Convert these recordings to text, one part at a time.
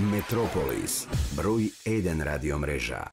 Метрополис, број 1 радиомрежа.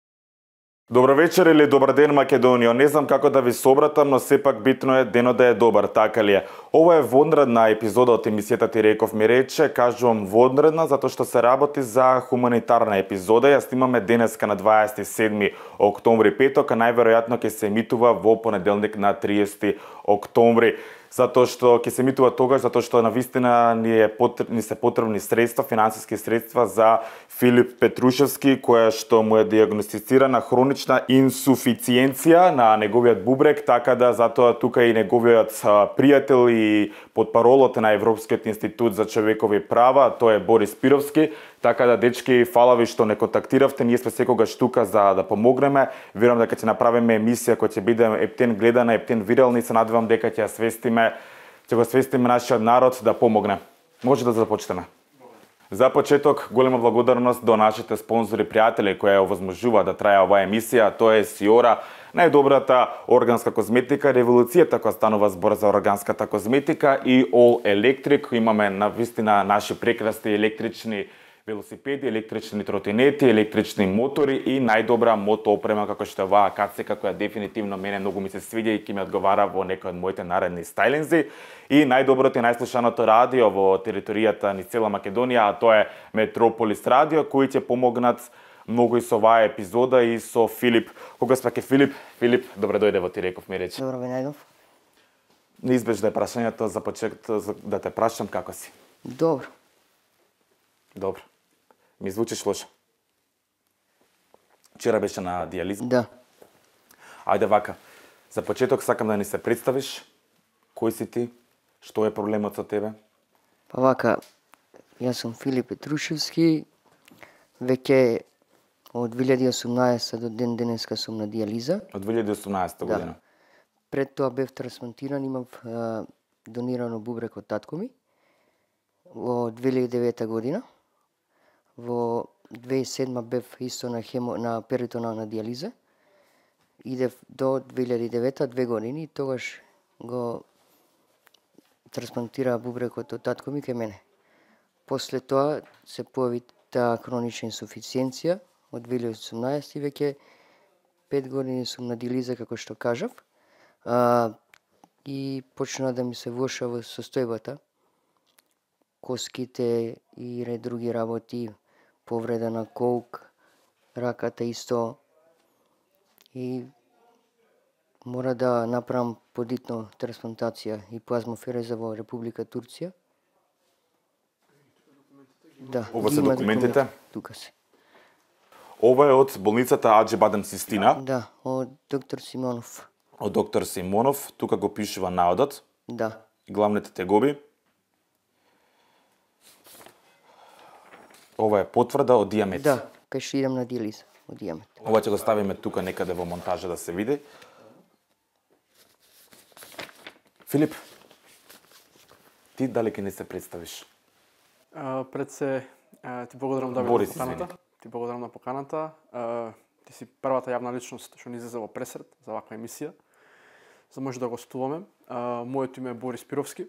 Добро вечер или добар ден, Македонија. Не знам како да ви се обратам, но сепак битно е денот да е добар, така ли е? Ова е вонредна епизода од емисијата Ти реков ми рече. Кажувам вонредна затоа што се работи за хуманитарна епизода. Ја снимаме денеска на 27 октомври, петок, а најверојатно ќе се емитува во понеделник на 30 октомври. Затоа што ќе се емитува тогаш, затоа што навистина ни се потребни средства, финансиски средства за Филип Петрушевски, која што му е диагностицирана хронична инсуфициенција на неговиот бубрек, така да затоа тука и неговиот пријател и потпаролот на Европскиот институт за човекови права, тој е Борис Спировски. Така да, дечки, фала ви што не контактиравте, ние сме секогаш тука за да помогнеме. Верувам дека ќе направиме емисија која ќе биде ептен гледана, ептен вирална и се надевам дека ќе го свестиме нашиот народ да помогне. Може да започнеме. За почеток, голема благодарност до нашите спонзори пријатели кои ја овозможуваат да трае оваа емисија, тоа е Сиора, најдобрата органска козметика, револуцијата која станува збор за органската козметика и All Electric. Имаме навистина наши прекрасни електрични велосипеди, електрични тротинети, електрични мотори и најдобра мотоопрема како што е оваа кацика која дефинитивно мене многу ми се свиѓа и ќе ми одговара во некој од моите наредни стајлинзи. И најдоброто и најслушаното радио во територијата ни цела Македонија, а тоа е Метрополис радио, кои ќе помогнат многу и со оваа епизода и со Филип. Кога спаке Филип? Филип, добре дојде во Ти реков ми рече. Добро ви најдов. Неизбежно е прашањето за почеток да те прашам како си. Добро. Добро. Ми звучиш лошо. Вчера беше на дијализа? Да. Ајде вака. За почеток сакам да ни се представиш. Кој си ти? Што е проблемот со тебе? Па вака, јас сум Филип Петрушевски. Веќе од 2018 до ден денеска сум на дијализа. Од 2018 година? Да. Пред тоа бев трансплантиран, имав донирано бубрек од татко ми во 2009 година. Во 2007 бев исто на перитонална дијализа. Идев до 2009, 2 години, и тогаш го трансплантира бубрекот од татко ми кај мене. После тоа се појави таа хронична инсуфициенција од 2018 и веќе 5 години сум на дијализа, како што кажав. И почна да ми се влошава состојбата. Коските и ред други работи, повреда на колк, раката исто. И мора да направам подитно трансплантација и плазмофереза во Република Турција. Да, Ова се документите? Тука се. Ова е од болницата Аџи Бадем Систина. Да, од доктор Симонов. Од доктор Симонов. Тука го пишува наодот. Да. Главните тегоби. Ова е потврда од дијамет. Да, кај што идам на дијализа од дијамет. Ова ќе го ставиме тука некаде во монтажа да се види. Филип, ти дали ќе не се представиш? Пред се ти благодарам да Борис, на поканата. Ти благодарам на поканата. Ти си првата јавна личност што ни излезе во пресред за ваква емисија. За може да гостуваме. Моето име е Борис Спировски.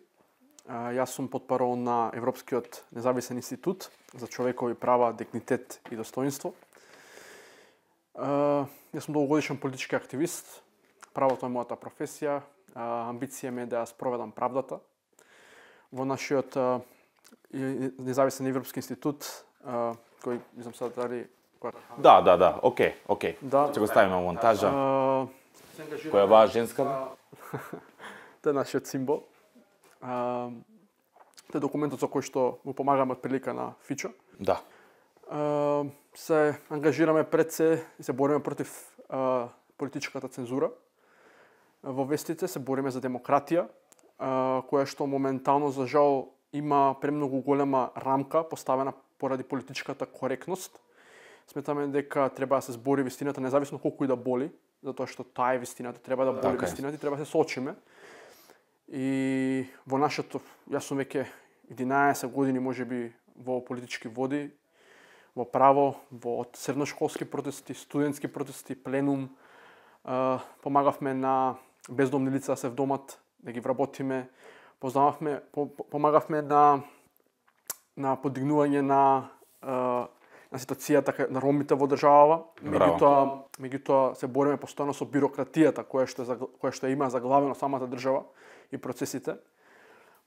Јас сум потпарол на Европскиот независен институт за човекови права, дигнитет и достоинство. Јас сум долгогодишен политички активист. Правото е мојата професија. Амбиција ми е да ја спроведам правдата. Во нашиот независен Европски институт, кој не знам сега дали Да, окей. Да. Ќе го ставиме во монтажа. Која е оваа женска? Тоа е нашиот символ. Тоа е документот со кој што му помагаме од прилика на Фичо. Да. Се ангажираме пред се и се бориме против политичката цензура. Во вестите се бориме за демократија, која што моментално, за жал, има премногу голема рамка поставена поради политичката коректност. Сметаме дека треба да се збори вистината, независно колку и да боли, затоа што таа е вистината, треба да боли вистината и треба да се соочиме. И во нашето, јас сум веќе 11 години можеби во политички води, во право, во средношколски протести, студентски протести, пленум. Помагавме на бездомни лица да се вдомат, да ги вработиме. Помагавме на подигнување на на ситуацијата на ромите во државава. Меѓутоа се бориме постојано со бирократијата која што има заглавено самата држава и процесите.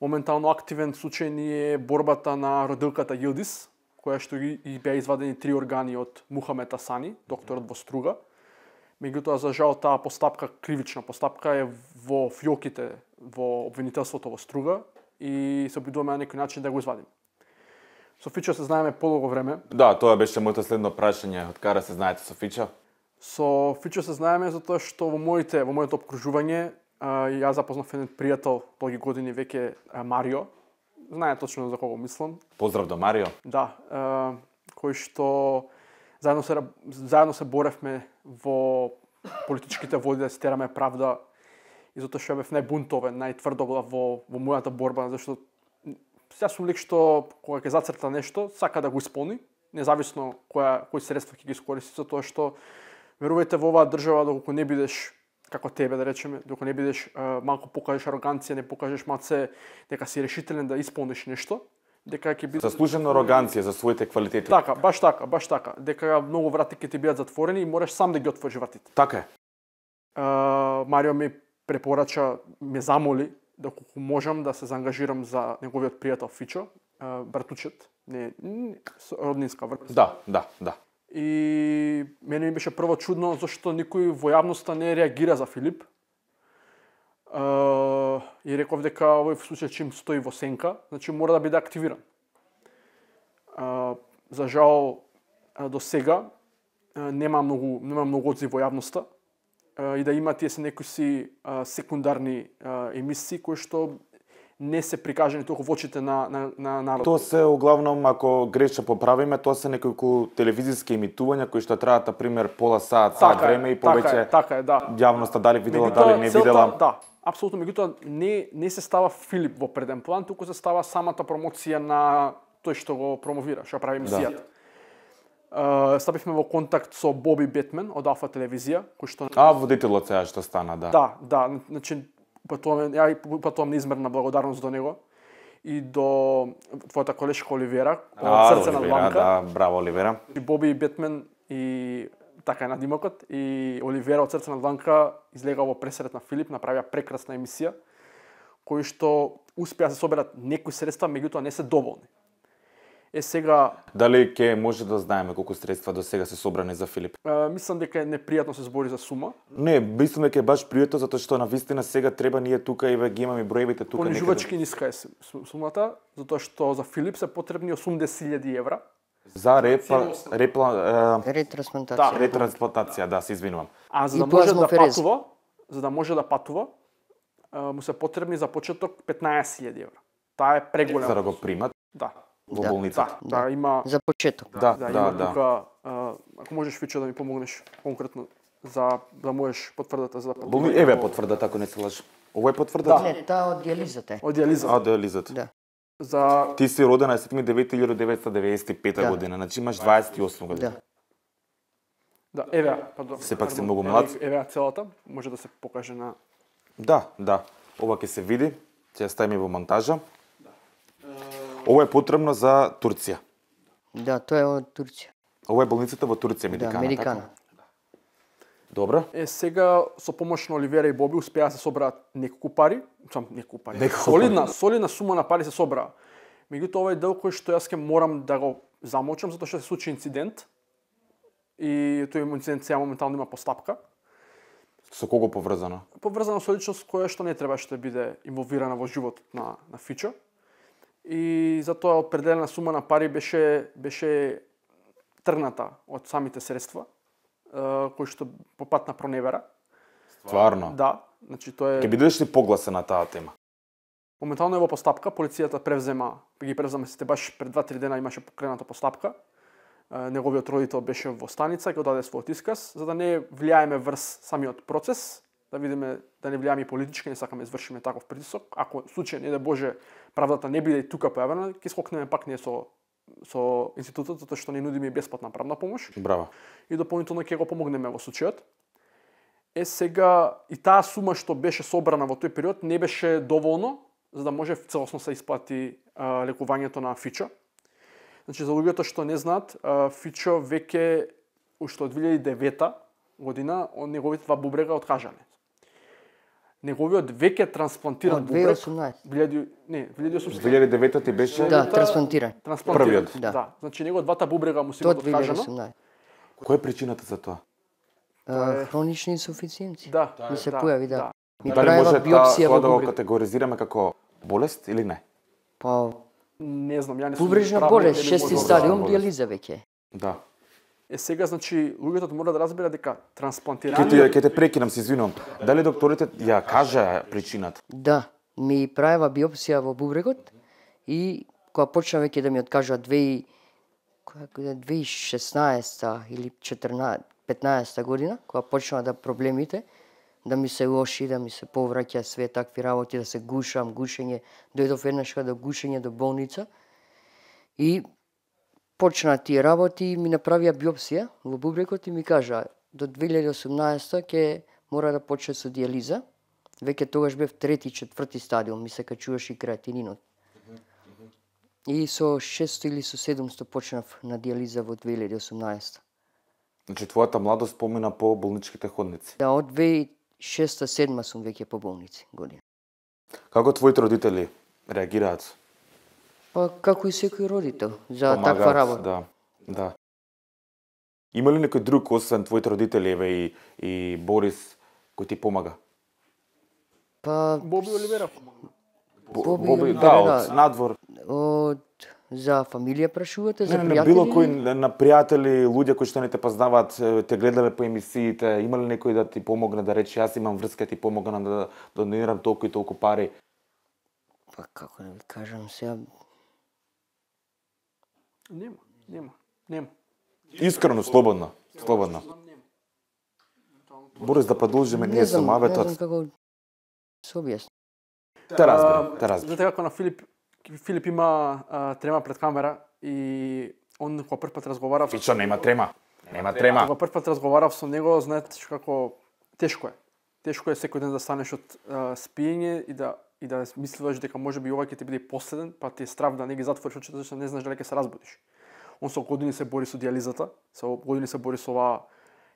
Моментално активен случај ни е борбата на родилката Јилдис, која што и беа извадени 3 органи од Мухамед Асани, докторот во Струга. Меѓутоа, за жал, таа постапка, кривична постапка, е во фиоките во обвинителството во Струга и се обидуваме на некој начин да го извадим. Со Фичо се знаеме подолго време. Да, тоа беше моето следно прашање. Од кара се знаете со Фичо? Со Фичо се знаеме затоа што во моето обкружување јас запознав еден пријател долги години веќе Марио. Знае точно за кого мислам. Поздрав до Марио. Да, кој што заедно се боревме во политичките води да се тераме правда и затоа што бев најбунтовен, најтврдоглав во мојата борба, зашто сега сум лик што кога ќе зацрта нешто, сака да го исполни, независно кои средства ќе ги искористи, затоа што верувајте во оваа држава доколку не бидеш како тебе да речеме, доколку не бидеш малку покажеш ароганција, не покажеш малце дека си решителен да исполниш нешто, дека ќе биде заслужена ароганција за своите квалитети. Така, баш така, дека многу врати ќе ти бидат затворени и мораш сам да ги отвориш вратите. Така е. Марио ми препорача, ме замоли доколку можам да се заангажирам за неговиот пријател Фичо, братучет, не роднинска врска. Да. И мене ми беше прво чудно зашто никој во јавноста не реагира за Филип. И реков дека овој случај чим стои во сенка, значи мора да биде активиран. За жал до сега нема многу одзив во јавноста и да има тие се некои секундарни емисии кои што не се прикажани толку во очите на народот. Тоа се углавном, ако греша поправиме, тоа се неколку телевизиски емитувања кои што траат на пример пола саат време и повеќе. Така е, да. Јавноста дали видела, дали не видела. Да, апсолутно, меѓутоа не се става Филип во преден план, туку се става самата промоција на тој што го промовира, што прави емисијата. Стапивме во контакт со Боби Бетмен од Алфа телевизија, кој што водителот сега што стана, да. Да, значи патувам неизмерна благодарност до него и до твојата колешка Оливера од Срце на Дланка. Да, браво Оливера. И Боби Бетмен и така е надимокот и Оливера од Срце на Дланка излега во пресрет на Филип, направија прекрасна емисија кои што успеа да се соберат некои средства, меѓутоа не се доволни. Сега дали ќе може да знаеме колку средства до сега се собрани за Филип? Мислам дека е непријатно се збори за сума. Не, мислам дека е баш пријатно затоа што навистина сега треба ние тука и ги имаме броевите тука некаде. Понижувачки ниска е сумата, затоа што за Филип се потребни 80.000 евра. За ретрансплантација. Да, се извинувам. А за да може да патува, му се потребни за почеток 15.000 евра. Таа е преголема. За да го примат. Да. Во болницата. Да, има за почеток. Да. Тука, ако можеш Фичо да ми помогнеш конкретно за да можеш потврдата за Еве потврдата ако не се лажам. Ово е потврдата? Не, таа од диализата. Од диализата. Од диализата. Да. Ти си роден на 7.9.1995 година, значи имаш 28 година. Да, еве, пардон. Сепак си многу млад. Еве целата, може да се покаже на. Да. Ова ќе се види, ќе ја ставиме во монтажа. Ова е потребно за Турција. Да, тоа е од Турција. Ова е болницата во Турција, Медикана. Да, Медикана. Добро. Сега со помош на Оливера и Боби успеа да се собраат неколку пари. Солидна сума на пари се собраа. Меѓутоа ова е дел кој што јас ќе морам да го замолчам затоа што се случи инцидент. И тој инцидент сега моментално има постапка. Со кого поврзано? Поврзано со личност која што не требаше да биде инволвирана во животот на Фичо. И затоа определена сума на пари беше тргната од самите средства, кои што по пат на проневера. Стварно? Да, значи тоа е. Ќе бидеш ли погласен на таа тема? Моментално е во постапка, полицијата ги превзема сите баш пред 2-3 дена имаше покрената постапка. Неговиот родител беше во станица, ќе даде својот исказ, за да не влијаеме врз самиот процес, да видиме да не влијаме и политички, не сакаме извршиме таков притисок. Ако случај не да Боже правдата не биде и тука појавена, ќе скокнеме пак ние со институтот затоа што не нудиме и бесплатна правна помош. Браво. И дополнително ќе го помогнеме во случајот. Сега и таа сума што беше собрана во тој период не беше доволно за да може целосно се исплати лекувањето на Фичо. Значи, за луѓето што не знаат, Фичо веќе уште од 2009 година, неговите два бубрега откажани. Неговиот веќе трансплантиран Од бубрек... 2018. 2009 ти беше... Да, трансплантиран. Првиот. Да. Значи, него двата бубрега му се До откажано. 2018. Која е причината за тоа? Хронични инсуфициенци. Да. Ми се појави, да. Ми Дали правила може биопсија тоа во да го бубрек. категоризираме како болест или не? Па, Не знам, ја не сум бубрежна правник, болест, не би шести можел да- стадиум, болест. диализа веќе. Да. Сега, значи, луѓето мора да разберат дека Ќе трансплантираниот... те прекинам, се извинувам. Дали докторите ја кажа причината? Да, ми правила биопсија во бубрегот и кога почна веќе да ми откажа 2016 или 15 година, кога почна да проблемите, да ми се лоши, да ми се повраќа све такви работи, да се гушење, дојдов еднашка до гушење до болница и почна тие работи и ми направија биопсија во бубрекот и ми кажа до 2018 ќе мора да почне со диализа. Веќе тогаш бев трети, четврти стадиум, ми се качуваше и креатининот. И со 600 или со 700 почнав на диализа во 2018. Значи, твојата младост помина по болничките ходници. Да, од 2006-2007 сум веќе по болници година. Како твоите родители реагираат? Па како и секој родител за Помагаат, таква работа. Да, да. Има ли некој друг освен твоите родители, еве и Борис, кој ти помага? Па Боби Оливера помага. Боби Боби, Оливера, да, да. од надвор. за фамилија прашувате, за Не, пријатели? било кој на пријатели, луѓе кои што не те познаваат, те гледале по емисиите, има ли некој да ти помогне да рече јас имам врска, ти помогна да донирам толку и толку пари? Па како да ви кажам сега, Нема. Искрено, слободно. Борис, да продолжиме ние со не маветот. знам како се објасни. Те разбирам. Знаете како на Филип има трема пред камера и он кога прв пат разговарав... Фичо, нема трема. Кога прв пат разговарав со него, знаете како тешко е. Тешко е секој ден да станеш од спиење и да мислиш дека можеби ова ќе ти биде последен, па ти е страв да не ги затвориш очите зашто не знаеш дали ќе се разбудиш. Он со години се бори со диализата, со години се бори со оваа,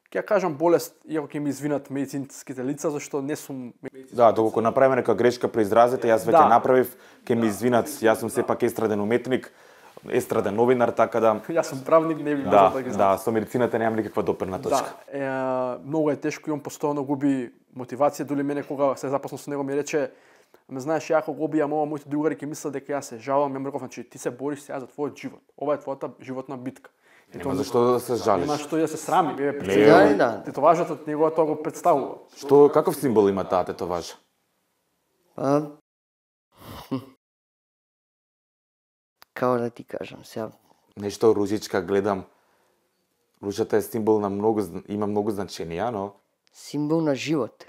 ќе ја кажам болест, иако ќе ми извинат медицинските лица, зашто не сум... Да, доколку направиме нека грешка при изразите, јас веќе Да. направив, ќе ми извинат, јас сум сепак естраден уметник, естраден новинар, така да... Јас сум правник, не би можел Да, да ги знам. да, со медицината немам никаква допирна точка. Да, многу е тешко и он постојано губи мотивација, дури мене кога се запознав со него ми рече: "Ме знаеш, ја ако го обијам ова, моите другари ќе мислат дека јас се жалам." Ја му реков, значи ти се бориш сега за твојот живот. Ова е твојата животна битка. Нема зашто да се жалиш. Нема што да се срами, Да. тетоважата од него тоа го представува. Што, каков символ има таа тетоважа? Па како да ти кажам сега, Нешто ружичка гледам. Ружата е символ на многу, има многу значења, но символ на живот.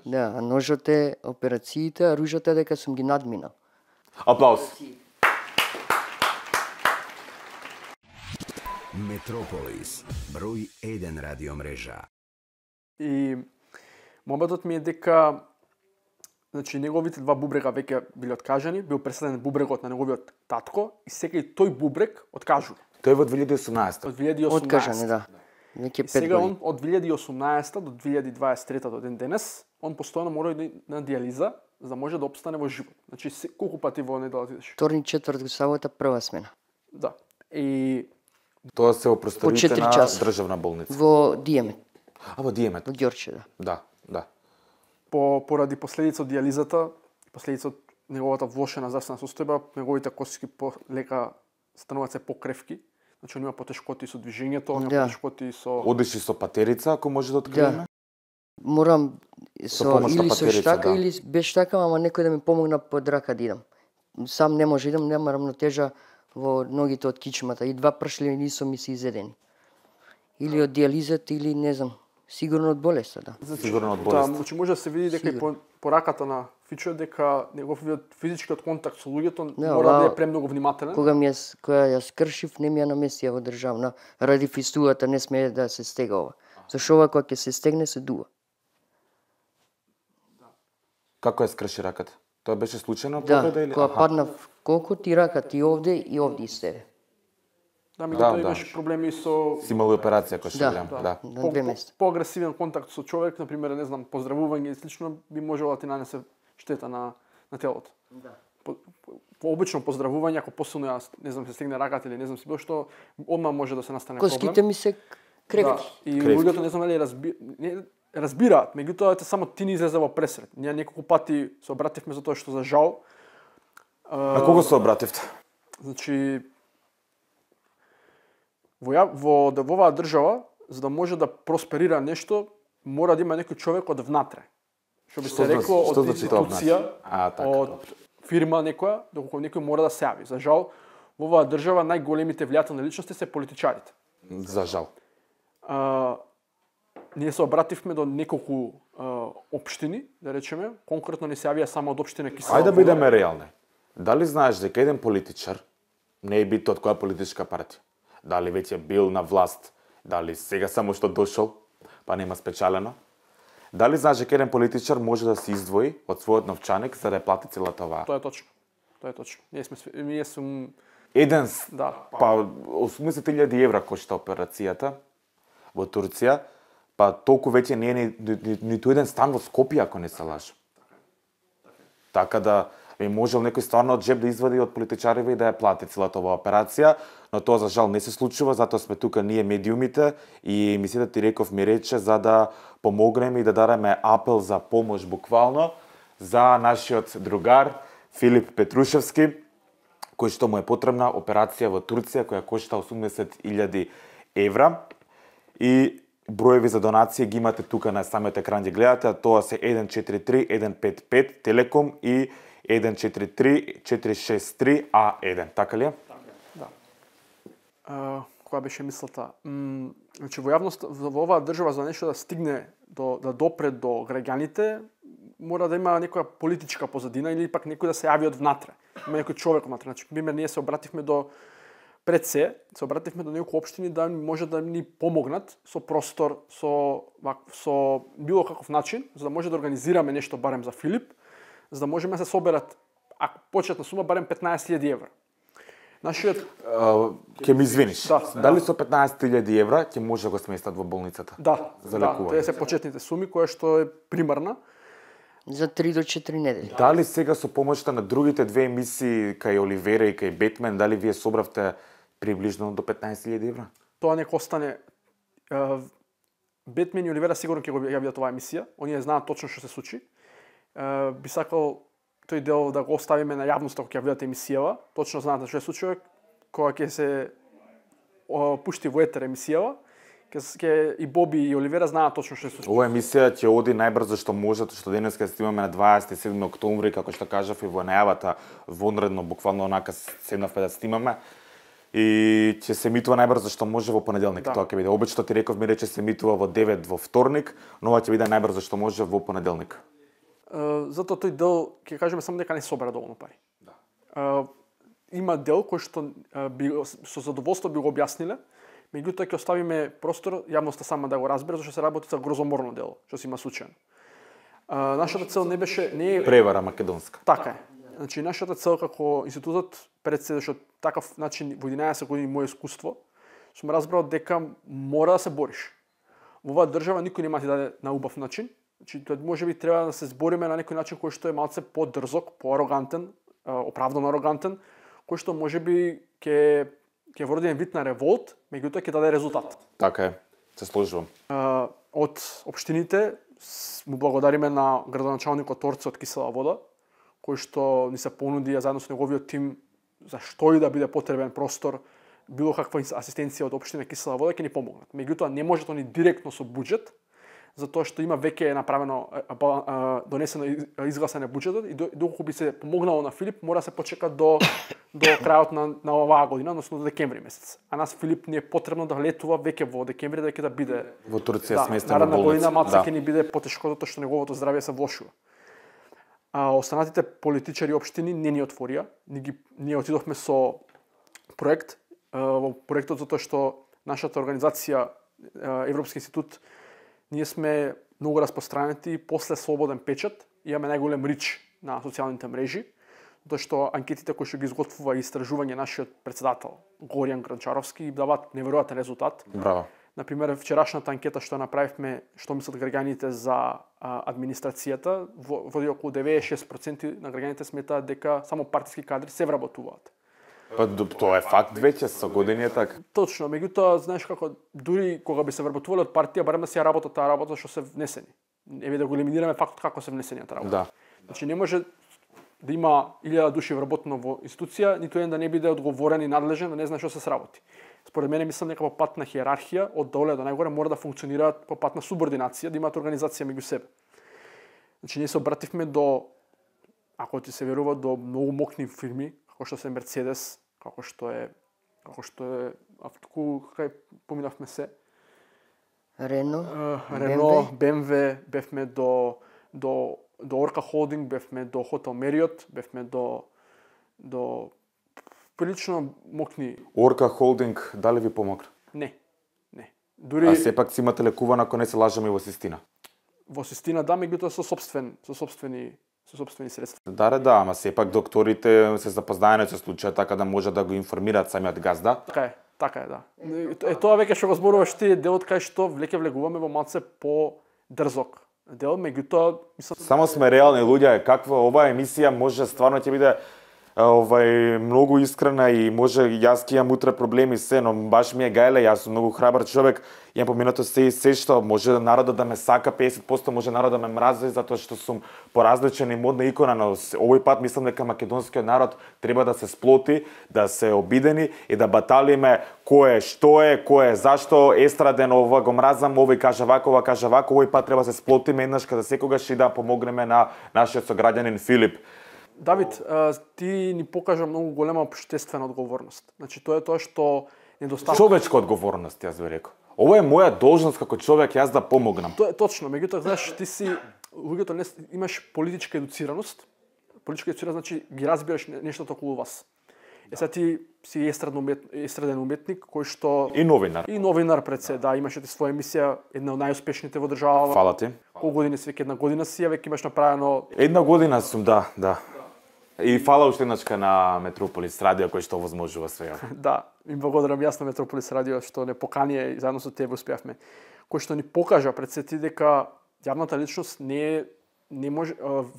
Да, а ножот е операциите, а ружата е дека сум ги надминал. аплауз. Метрополис, број 1 радиомрежа. И моментот ми е дека значи неговите два бубрега веќе биле откажани, бил преселен бубрегот на неговиот татко и сега и тој бубрег откажува. Тој е во 2018. Од 2018. Откажане, да. Веќе 5 Сега години. он од 2018 до 2023 до ден денес, он постојано мора да на диализа за да може да опстане во живот. Значи колку пати во неделата идеш? Вторник, четврток, сабота, прва смена. Да. И Тоа се во просториите 4 на часа. државна болница. Во Диемет, А во Диемет. во Ѓорче, да. Да, да. поради последица од диализата, последица од неговата влошена здравствена состојба, неговите кости полека стануваат се покревки. Значи он има потешкоти со движењето, он има Да. потешкоти со Одиш и со патерица, ако може да откриеме? Морам Со со помош на или со патерица, штака да. или без штака, ама некој да ми помогна под рака да идам. Сам не може идам, нема рамнотежа во ногите од кичмата и два пршлени сум ми се изедени. Или од диализата или не знам, сигурно од болеста, да. Сигурно од Да, болест. значи може да се види дека и по раката на Фичо дека неговиот физичкиот контакт со луѓето Да, мора да ова- е премногу внимателен. Кога ја скршив, не ми ја наместија во државна, ради фистулата не смее да се стега ова. Зашо ова кога ќе се стегне се дува. Како ја скрши раката? Тоа беше случајно Да, повреда или? кога Аха. паднав колку ти раката и овде истере. Да, меѓутоа да. имаше проблеми со Си имал операција кој што Да. гледам, да. На 2 месеци. Поагресивен контакт со човек, на пример, не знам, поздравување и слично би можело да ти нанесе штета на телото. Да. По обично поздравување, ако посилно ја, не знам, се стегне раката или не знам си било што, одма може да се настане проблем. Коските ми се кревки. Да. И Кревки. луѓето не знам дали разбираат, меѓутоа само ти не излезе во пресред. Ние неколку пати се обративме за тоа што за жал. На кого се обративте? Значи во оваа држава, за да може да просперира нешто, мора да има некој човек од внатре. Што би се рекло од институција, од фирма некоја, доколку некој мора да се јави. За жал, во оваа држава најголемите влијателни личности се политичарите. За жал. Ние се обративме до неколку општини, да речеме, конкретно не се јавија само од општина Кисела Ајде да вода. бидеме реални. Дали знаеш дека еден политичар, не е битно од која политичка партија, дали веќе бил на власт, дали сега само што дошол, па нема спечалено, дали знаеш дека еден политичар може да се издвои од својот новчаник за да ја плати целата оваа? Тоа е точно. Тоа е точно. Ние сум Еден, да. па 80.000 евра кошта операцијата во Турција, па толку веќе не е ниту еден стан во Скопје, ако не се лажам. Така да би можел некој стварно од джеб да извади од политичариве и да ја плати целата оваа операција, но тоа за жал не се случува, затоа сме тука ние медиумите и емисијата Ти реков ми рече за да помогнеме и да дадеме апел за помош буквално за нашиот другар Филип Петрушевски, кој што му е потребна операција во Турција која кошта 80.000 евра и броеви за донација ги имате тука на самиот екран, ги гледате, а тоа се 143 155 Телеком и 143 463 А1, така ли е? Да. Која беше мислата? Значи во јавност во оваа држава за нешто да стигне да допре до граѓаните, мора да има некоја политичка позадина или пак некој да се јави од внатре. Има некој човек внатре. Значи, пример, ние се обративме до се обративме до некои општини да може да ни помогнат со простор, со било каков начин, за да може да организираме нешто барем за Филип, за да можеме да се соберат, ако почетна сума, барем 15.000 евра. Нашиот ќе ми извиниш. Да, Дали со 15.000 евра ќе може да го сместат во болницата? Да, за да, лекување. тоа се почетните суми која што е примарна. За 3 до 4 недели. Дали сега со помошта на другите две емисии кај Оливера и кај Бетмен, дали вие собравте приближно до 15.000 евра? Тоа нека остане. Бетмен и Оливера сигурно ќе го јавиат оваа емисија. Оние знаат точно што се случи. Би сакал тој дел да го оставиме на јавноста кога ќе видат емисијава. Точно знаат што се случува кога ќе се пушти во етер емисијава. Ке и Боби и Оливера знаат точно што се случува. Ова емисија ќе оди најбрзо што може, што денес ќе снимаме на 27 октомври, како што кажав и во најавата, вонредно, буквално онака седнавме да снимаме. И ќе се емитува најбрзо што може во понеделник. Да. Тоа ќе биде. Обично Ти реков ми рече се емитува во 9 во вторник, но ова ќе биде најбрзо што може во понеделник. Затоа тој дел ќе кажеме само дека не собера доволно пари. Да. Има дел кој што со задоволство би го објасниле, меѓутоа ќе оставиме простор јавноста сама да го разбере зашто се работи за грозоморно дело, што се има случајно. Нашата цел не е Превара македонска. Така е. Значи нашата цел како институтот пред се што такав начин во 11 години моје искуство сум разбрал дека мора да се бориш. Во оваа држава никој нема ти даде на убав начин. Значи тоа можеби треба да се збориме на некој начин кој што е малце подрзок, поарогантен, оправдано арогантен, кој што можеби ќе вроди еден вид на револт, меѓутоа ќе даде резултат. Така е, се сложувам. Од општините му благодариме на градоначалникот Торце од Кисела вода, кој што ни се понуди заедно со неговиот тим за што и да биде потребен простор, било каква асистенција од општина Кисела вода ќе ни помогнат. Меѓутоа не може тоа ни директно со буџет, затоа што има веќе направено донесено изгласен буџетот и доколку би се помогнало на Филип, мора да се почека до крајот на оваа година, односно до декември месец. А нас Филип не е потребно да летува веќе во декември дека да биде во Турција сместен во наредна болница. година малце ќе ни биде потешко затоа што неговото здравје се влошува. Останатите политичари и општини не ни отворија. Ние отидовме со проект, во проектот затоа што нашата организација Европски институт ние сме многу распространети после слободен печат, имаме најголем рич на социјалните мрежи, Тоа што анкетите кои што ги изготвува истражување нашиот председател Горијан Гранчаровски даваат неверојатен резултат. Браво. Например, вчерашната анкета што направивме, што мислат граѓаните за администрацијата, води околу 96% на граѓаните сметаат дека само партиски кадри се вработуваат. Па тоа е факт веќе со години е така. Точно, меѓутоа, знаеш како, дури кога би се вработувале од партија, барем да си ја работат таа работа што се внесени. Еве да го елиминираме фактот како се внесени таа работа. Да. Значи не може да има 1000 души вработено во институција, ниту еден да не биде одговорен и надлежен, да не знае што се сработи. Според мене мислам дека по пат на хиерархија од доле до најгоре мора да функционираат по пат на субординација, да имаат организација меѓу себе. Значи ние се обративме до, ако ти се верува, до многу мокни фирми, како што се Мерцедес, како што е автоку, кај поминавме се. Рено, БМВ, бевме до Орка Холдинг, бевме до Хотел Мериот, бевме до прилично мокни. Орка Холдинг дали ви помогна? Не. Дури А сепак си имате лекувана, ако не се лажаме, и во Систина. Во Систина да, меѓутоа со сопствени средства. Да, ама сепак докторите се запознаени со случајот така да може да го информираат самиот газда. Така е, да. Тоа веќе што го зборуваш ти е делот кај што веќе влегуваме во малце по дрзок дел, меѓутоа мислам Само сме реални луѓе, каква оваа емисија може стварно ќе биде многу искрена и може јас ќе имам утре проблеми се, но баш ми е гајле, јас сум многу храбар човек, имам поминато се и се што може народот да ме сака 50%, може народот да ме мрази затоа што сум поразличен и модна икона, но овој пат мислам дека македонскиот народ треба да се сплоти, да се обидени и да баталиме кој е, што е, кој е, зашто естраден, ова го мразам, овој каже вако, ова каже вако, овој пат треба да се сплотиме еднаш каде секогаш и да помогнеме на нашиот сограѓанин Филип. Давид, ти ни покажа многу голема општествена одговорност. Значи тоа е тоа што недостаток. Човечка одговорност, јас би рекол. Ова е моја должност како човек, јас да помогнам. Тоа е точно, меѓутоа знаеш, ти си луѓето не имаш политичка едуцираност. Политичка едуцираност значи ги разбираш нештото околу вас. Сега ти си естраден уметник кој што И новинар. И новинар пред се, да, имаше ти своја емисија, една од најуспешните во државава. Фала ти. Колку години си, веќе една година си, веќе имаш направено. Една година сум, да. И фала уште еднашка на Метрополис радио кој што овозможува свега. Да, им благодарам јас на Метрополис радио што не покани и заедно со тебе успеавме. Кој што ни покажа пред се ти дека јавната личност не може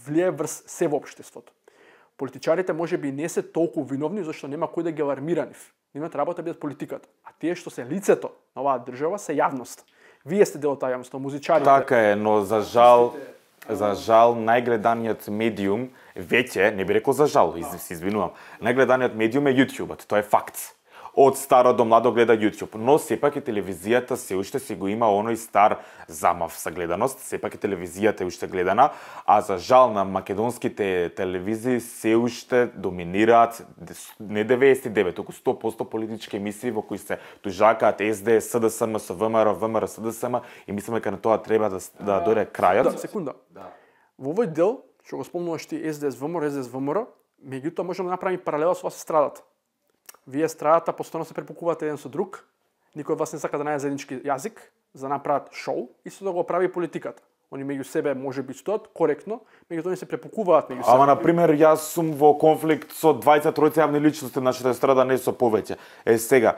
влие врз се во општеството. Политичарите можеби не се толку виновни зашто нема кој да ги алармира нив. Нивната работа бидат политиката, а тие што се лицето на оваа држава се јавност. Вие сте дел од таа јавност, музичарите. Така е, но за жал најгледаниот медиум веќе, не би рекол за жал, се извинувам, најгледаниот медиум е YouTube-от, тоа е факт. Од старо до младо гледа YouTube, но сепак и телевизијата се уште си го има оној стар замав за гледаност, сепак и телевизијата е уште гледана, а за жал на македонските телевизии се уште доминираат не 99, туку 100% политички емисии во кои се тужакаат СДС, СДСМ со ВМРО, ВМРО, СДСМ и мислам дека на тоа треба да дојде крајот. Да, секунда. Во овој дел, што го спомнуваш ти СДС, ВМРО, меѓутоа можеме да направиме паралела со вас страдата. Вие страдата постојано се препукувате еден со друг, никој од вас не сака да најде заеднички јазик, за да направат шоу и со да го прави политиката. Они меѓу себе може би стоат коректно, меѓутоа они се препукуваат меѓу себе. Ама на пример јас сум во конфликт со 23 јавни личности, нашата страда не со повеќе. Сега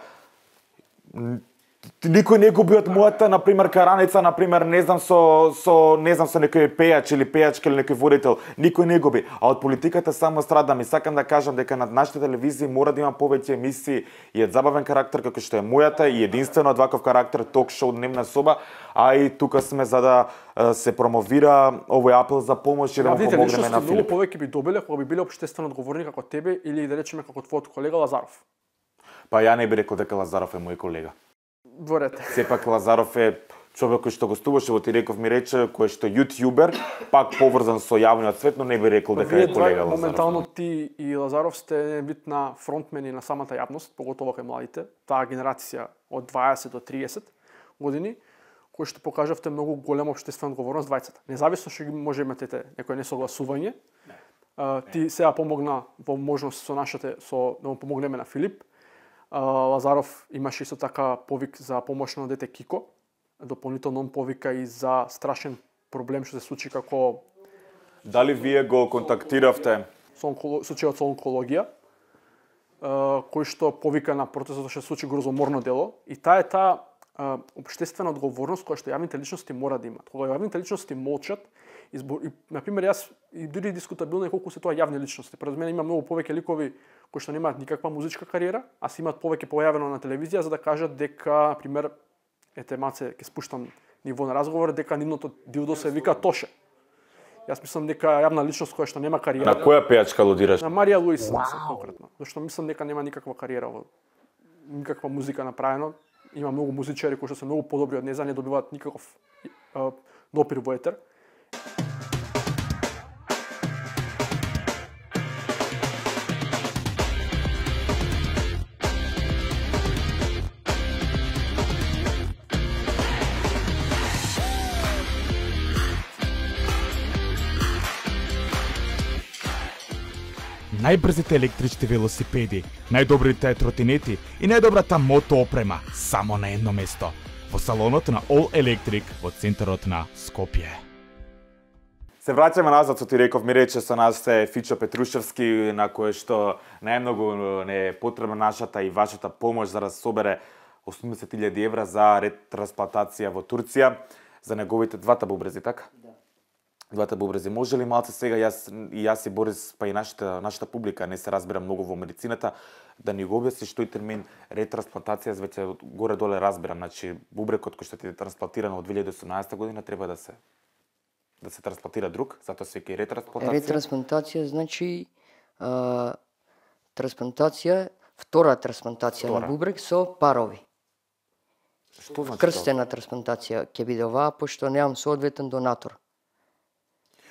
никој не губи од мојата, на пример, караница, на пример, не знам со некој пејач или пејачка или некој водител, никој не губи. А од политиката само страдам и сакам да кажам дека над нашите телевизии мора да има повеќе емисии и од забавен карактер како што е мојата и единствено од ваков карактер ток-шоу Дневна соба, а и тука сме за да се промовира овој апел за помош и да му помогнеме на Филип. Многу повеќе би добиле кога би биле општествено одговорни како тебе или да речеме како твојот колега Лазаров. Па ја не би рекол дека Лазаров е мој колега. Дворете. Сепак Лазаров е човек кој што гостуваше во Тиреков ми рече, кој што јутјубер, пак поврзан со јавниот свет, но не би рекол дека е колега Лазаров. Моментално ти и Лазаров сте вид на фронтмени на самата јавност, поготово кај младите, таа генерација од 20 до 30 години, кои што покажавте многу голема општествена одговорност двајцата. Независно што може имате некој несогласување, ти сега помогна во можност да му помогнеме на Филип. Лазаров имаше исто така повик за помош на дете Кико. Дополнително он повика и за страшен проблем што се случи како... Дали вие го контактиравте случајот со онкологија, кој што повика на протестот што се случи грозоморно дело, и таа е таа општествена одговорност која што јавните личности мора да имат. Кога јавните личности молчат, и на пример јас и дури дискутабилно е колку се тоа јавни личности. Пред мене има многу повеќе ликови кои што немаат никаква музичка кариера, а се имаат повеќе појавено на телевизија за да кажат дека, на пример, маце ќе спуштам ниво на разговор, дека нивното дилдо се вика Тоше. Јас мислам дека јавна личност која што нема кариера. На која пејачка алудираш? На Марија Луис конкретно. Зашто мислам дека нема никаква кариера, никаква музика направено. Има многу музичари кои што се многу подобри од неа, не добиваат никаков допир во етер. Најбрзите електрични велосипеди, најдобрите тротинети и најдобрата мото опрема само на едно место, во салонот на All Electric во центарот на Скопје. Се враќаме назад, со ти реков, ми рече со нас е Фичо Петрушевски, на кој што најмногу не е потребна нашата и вашата помош за да собере 80.000 евра за ретрансплантација во Турција за неговите двата бубрези, така? Да. Двата бубрези. Може ли малце сега јас и Борис, па и нашата публика не се разбира многу во медицината, да ни го објасниш тој термин ретрансплантација, веќе горе-доле разбирам, значи бубрекот кој што ти е трансплантиран од 2018 година треба да се трансплантира друг, затоа се вика и ретрансплантација. Ретрансплантација значи трансплантација, втора трансплантација на бубрек со парови. Што значи? Крстена трансплантација ќе биде оваа, пошто немам соодветен донатор.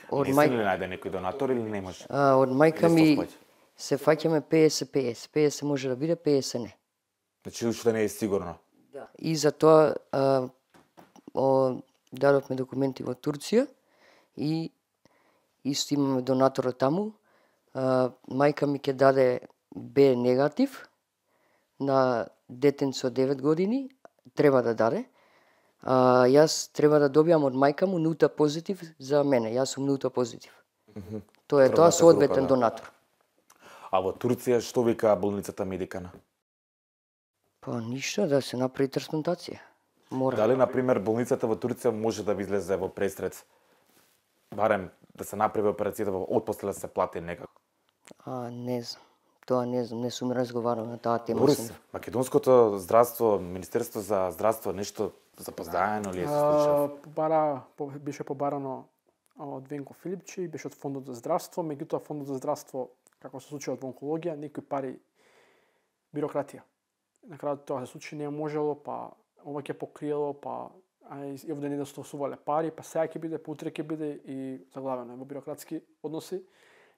Не си ли најде некој донатор или не може? Од мајка ми се фаќаме 50-50. 50 може да биде, 50 не. Значи уште не е сигурно. Да. И затоа дадовме документи во Турција и исто имаме донаторот таму. Мајка ми ќе даде Б негатив на детенце од 9 години, треба да даде. Јас треба да добијам од мајка му нулта позитив за мене. Јас сум нулта позитив. Тоа е тоа соодветен донатор. А во Турција што вика болницата Медикана? Па ништо, да се направи трансплантација. Мора. Дали, на пример, болницата во Турција може да ви излезе во престрет, барем да се направи операцијата, отпосле да се плати некако? Не знам. Тоа не знам, не сум разговарал на таа тема. Борис, македонското здравство, Министерство за здравство, нешто запоздаено ли е се случило? Беше побарано од Венко Филипчи, беше од Фондот за здравство, меѓутоа Фондот за здравство, како се случи од онкологија, некои пари, бирократија. На крајот тоа се случи, не можело, па ова ќе покриело, па и овде не достосувале пари, па сега ќе биде, па утре ќе биде и заглавено е во бирократски односи.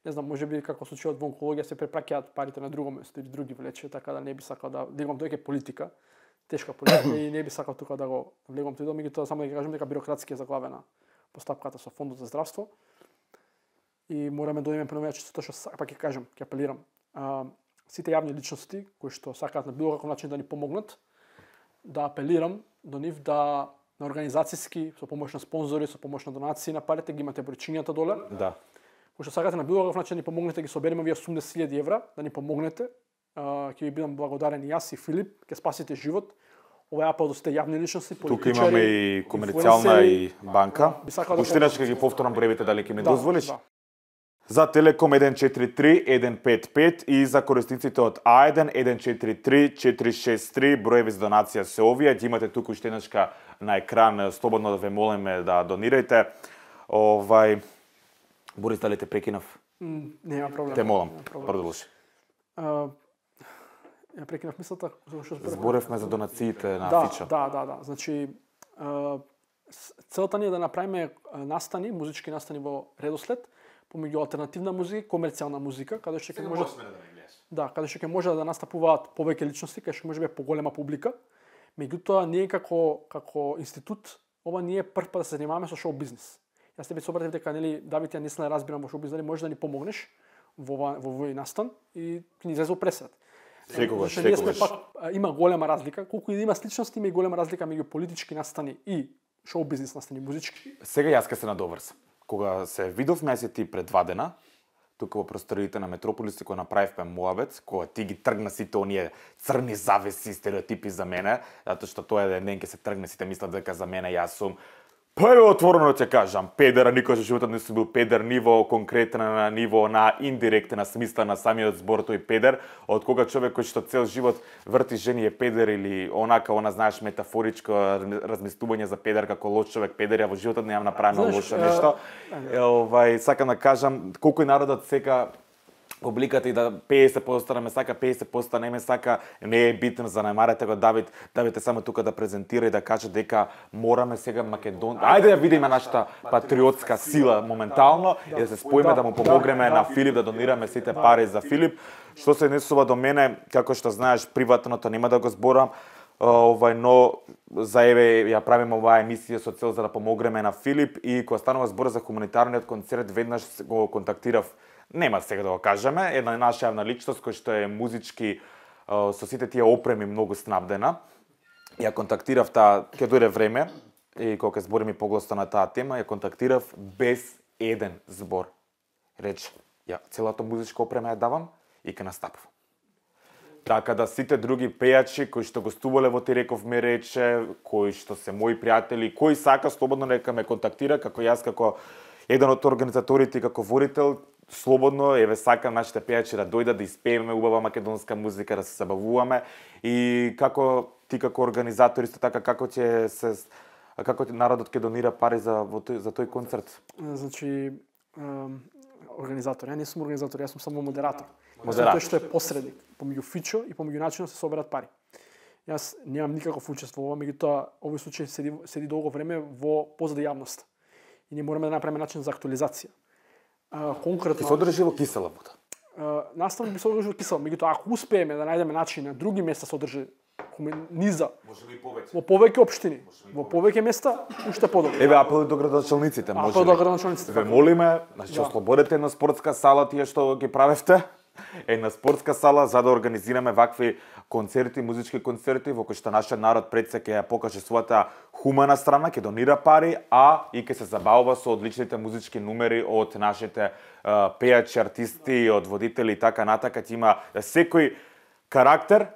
Не знам, може би како случајот во онкологија се препраќаат парите на друго место или други влече, така да не би сакал да влегам тоа е политика, тешка политика и не би сакал тука да го влегам тоа, меѓутоа само да ќе кажам дека бирократски е заглавена постапката со Фондот за здравство. И мораме да одиме према чистото што пак ќе кажам, ќе апелирам. Сите јавни личности кои што сакаат на било каков начин да ни помогнат, да апелирам до нив да на организацијски, со помош на спонзори, со помош на донации на парите, ги имате бројчињата доле. Да. Кои што сакате на било каков начин да ни помогнете, ги собереме вие 80.000 евра, да ни помогнете. Ќе ви бидам благодарен и јас и Филип, ќе спасите живот. Ова е апел до сите јавни личности, политичари. Тука имаме и комерцијална и банка. Уште ќе ги повторам броевите, дали ќе ми дозволиш? Да. За Телеком 143 155 и за корисниците од А1 143 463, броеви за донација се овие. Ги имате тука уште еднашка на екран, слободно да ве молиме да донирајте. Борис, дали те прекинав? Нема проблем. Те молам, продолжи. Ја прекинав мислата што зборевме за донациите на Фичо. Да. Значи целта ни е да направиме настани, музички настани во редослед помеѓу алтернативна музика и комерцијална музика, каде што ќе може каде што ќе може да настапуваат повеќе личности, каде што може би поголема публика. Меѓутоа ние како институт, ова не е прв пат да се занимаваме со шоу бизнис. Јас тебе се обратив дека Давид, ја не се разбирам во шоу бизнис, може да ни помогнеш во овој настан и ни излезе пресет. Секогаш. Има голема разлика, колку и да има сличности, има и голема разлика меѓу политички настани и шоу бизнис настани музички. Сега јас ке се надоврзам. Кога се видовме јас и ти пред 2 дена, тука во просториите на Метрополис кога направивме муабет, кога ти ги тргна сите оние црни завеси, стереотипи за мене, затоа што тоа е ден ќе се тргне сите мислат дека за мене јас сум отворено ќе кажам, педера, никош во животот не сум бил педер, ниво конкретно на ниво на индиректна смисла на самиот збор тој педер, од кога човек кој што цел живот врти жени е педер или онака, знаеш, метафоричко размислување за педер како лош човек педер, ја во животот немам направено лошо нешто. Сакам да кажам, колку народот сека публиката и да 50% не ме сака, 50% не ме сака, не е битно, занемарете го Давид. Давид е само тука да презентира и да каже дека мораме сега Македон... Ајде да видиме нашата патриотска сила моментално и да се споиме да му помогнеме на Филип, да донираме сите пари за Филип. Што се однесува до мене, како што знаеш, приватното нема да го зборам, но за еве ја правиме оваа емисија со цел за да помогнеме на Филип и кога станува збор за хуманитарниот концерт, веднаш го контактирав. Нема сега да го кажеме, една наша јавна личност која што е музички со сите тие опреми многу снабдена. Ја контактирав ќе дојде време и кога ќе збориме погласно на таа тема, ја контактирав без еден збор. Рече, ја целата музичка опрема ја давам и ќе настапувам. Така да сите други пејачи кои што гостувале во Тиреков ме рече, кои што се мои пријатели, кои сака слободно нека ме контактира, како јас како еден од организаторите и како водител, слободно, еве сакам нашите пејачи да дојдат да испееме убава македонска музика, да се забавуваме и како ти како организатор исто така како народот ќе донира пари за тој концерт. Значи организатор, ја не сум организатор, јас сум само модератор. Тој што е посредник помеѓу Фичо и помеѓу начинот се соберат пари. Јас немам никаков учество во ова, меѓутоа овој случај седи долго време во позади јавност. И ние мораме да направиме начин за актуализација. Конкретно ќе се одржи во кисела вода. Наставно би се одржи во кисела, меѓутоа ако успееме да најдеме начин на други места се одржи низа. Можеби и повеќе. Во повеќе општини, во повеќе места уште подобро. Еве апел до градоначалниците, може. Апел до градоначалниците. Ве молиме, значи ослободете една спортска сала тие што ги правевте. Една спортска сала за да организираме вакви концерти, музички концерти во кои што нашиот народ пред се ќе ја покаже својата хумана страна, ќе донира пари, и ќе се забавува со одличните музички numери од нашите пејачи, артисти, од водители и така натака. Ќе има секој карактер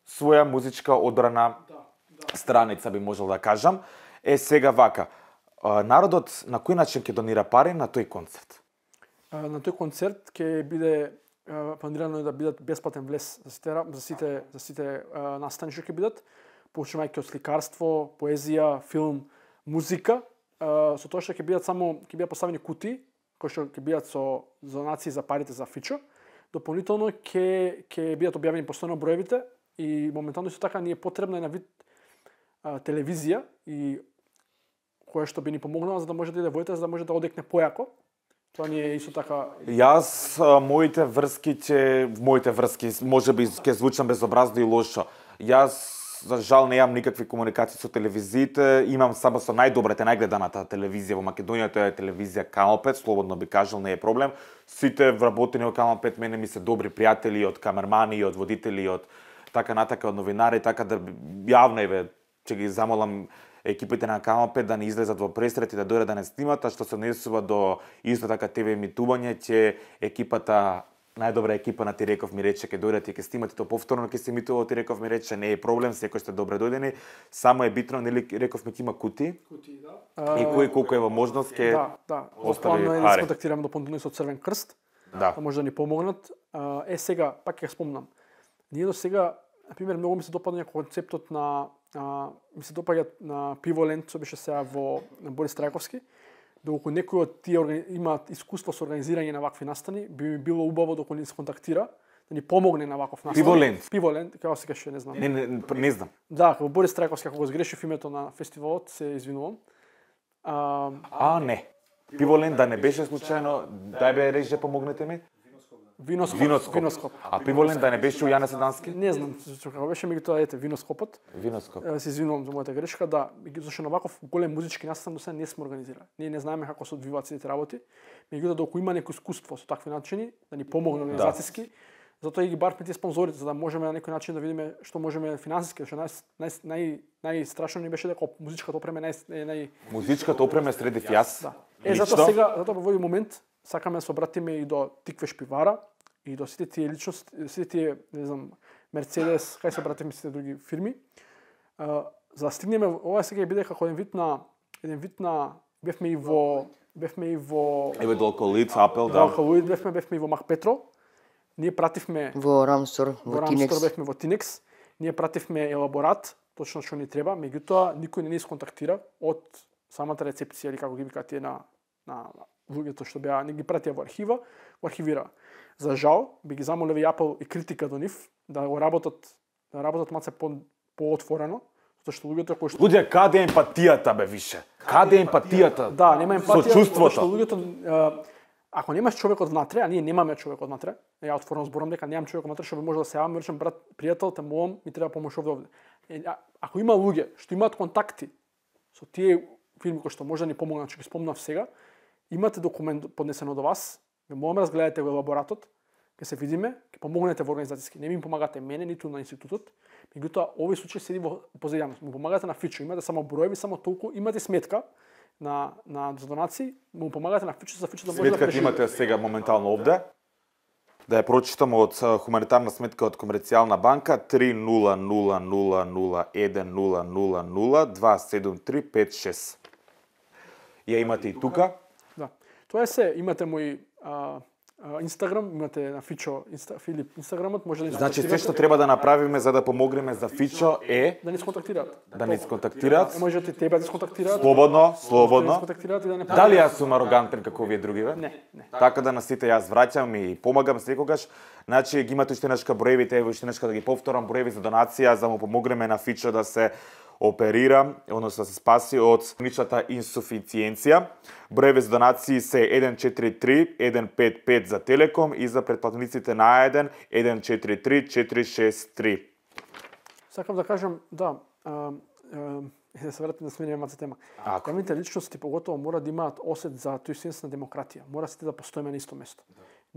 своја музичка одбрана страница, би можел да кажам. Сега вака, народот на кој начин ќе донира пари на тој концерт? На тој концерт ќе биде планирано да бидат бесплатен влез за сите настани што ќе бидат, почнувајќи од сликарство, поезија, филм, музика, со тоа што ќе бидат поставени кутии кои што ќе бидат со донации за парите за Фичо. Дополнително ќе бидат објавени постојано броевите и моментално исто така ни е потребна една вид телевизија и која што би ни помогнала за да може да иде воите, за да може да одекне појако. Тоа ни е исто така. Јас моите врски, можеби ќе звучам безобразно и лошо. Јас за жал немам никакви комуникации со телевизиите, имам само со најдобрата, најгледаната телевизија во Македонија, тоа е телевизија Канал 5, слободно би кажал, не е проблем. Сите вработени од Канал 5 мене ми се добри пријатели, од камермани, од водители, од така натака, од новинари, така да јавно ќе ги замолам екипите на Канал 5 да не излезат во пресрет и да дојдат да не снимат, а што се однесува до исто така ТВ емитување, ќе екипата, најдобра екипа на Тиреков ми рече ќе дојдат и ќе снимат и то повторно ќе се емитува Тиреков ми рече, не е проблем, секој сте добре дојдени, само е битно, нели реков ми ќе има кутии. И кој колку е во можност ќе остави пари. Да се контактираме дополнително со Црвен крст, да може да ни помогнат. Сега пак ќе спомнам. Ние до сега, на пример, многу ми се допадна концептот ми се допаѓа на Пиволенд, што беше сега на Борис Трајковски. Доколку некој од тие имаат искуство со организирање на вакви настани, би ми било убаво доколку ни се контактира, да ни помогне на ваков настан. Пиволенд, како се каже, не знам. Не знам. Да, како Борис Трајковски, ако го сгрешив името на фестивалот, се извинувам. Не. Пиволенд да не беше случајно, дај бе реже, помогнете ми. Виноскоп. А Пиволенд да не беше у Јане Седански? Не знам, како беше, меѓутоа Виноскопот. Виноскоп. Се извинувам за мојата грешка, да, зашто на ваков голем музички настан до сега не сме организирали. Ние не знаеме како се одвиваат сите работи, меѓутоа доколку има некој искуство со такви начини, да ни помогне организацијски, затоа и ги барвме тие спонзорите, за да можеме на некој начин да видиме што можеме финансиски, што најстрашно ни беше дека музичката опрема Музичката опрема средив јас. Затоа сега, затоа во овој момент сакаме да се обратиме и до Тиквеш пивара и до сите тие личности, сите тие, не знам, Мерцедес, кај се обратиме сите други фирми. За да стигнеме, ова сега биде како еден вид на бевме и во Еве Долколит, Апел, да. Долколит бевме и во Макпетро. Ние пративме Во Рамстор, во Тинекс. бевме во Тинекс. Ние пративме елаборат, точно што ни треба, меѓутоа никој не ни сконтактира од самата рецепција или како ги викаат тие на луѓето што беа, не ги пратија во архива, го архивира. За жал, би ги замолеве Apple и критика до нив да го работат малце поотворено, затоа што луѓето кои што Луѓе, каде е емпатијата бе више? Каде е емпатијата? да, нема емпатија, чувството. што луѓето ако немаш човек од внатре, а ние немаме човек од внатре, ја отворено зборам дека немам човек од внатре, што би може да се јавам, речем брат, пријател, те молам, ми треба помош овде. Ако има луѓе што имаат контакти со тие фирми кои што може да ни помогнат, што ги спомнав сега, имате документ поднесено до вас, ве молам разгледајте го елаборатот, ќе се видиме, ќе помогнете во организацијски. Не ми помагате мене, ниту на институтот, меѓутоа овој случај седи во позајавност. Му помагате на Фичо, имате само броеви, само толку, имате сметка за донации, му помагате на Фичо, за Фичо да може да Сметката преживее. имате сега моментално овде. Да ја прочитам од хуманитарна сметка од Комерцијална банка 30001000273556. Ја имате и тука. Да. Тоа е се, имате мој Инстаграм, имате на Фичо Филип Инстаграмот, може да ни Значи се сконтактирате. што треба да направиме за да помогнеме за Фичо е Да ни сконтактираат. да ни сконтактираат. Можете тебе да сконтактираат. Слободно, Да ни слободно. сконтактираат и да не Дали јас сум арогантен како вие другиве? Не, не. Така да на сите јас враќам и помагам секогаш. Значи ги имате уште нешка броевите, ево уште нешка да ги повторам броеви за донација за да му помогнеме на Фичо да се оперира, односно да се спаси од хроничната инсуфициенција. Броеви за донации се 143 155 за Телеком и за претплатениците на А1 143 463. Сакам да кажам, да, да се вратим да смениме маца тема. Ако. Главните личности поготово мора да имаат осет за тој сенс на демократија. Мора сите да постоиме на исто место.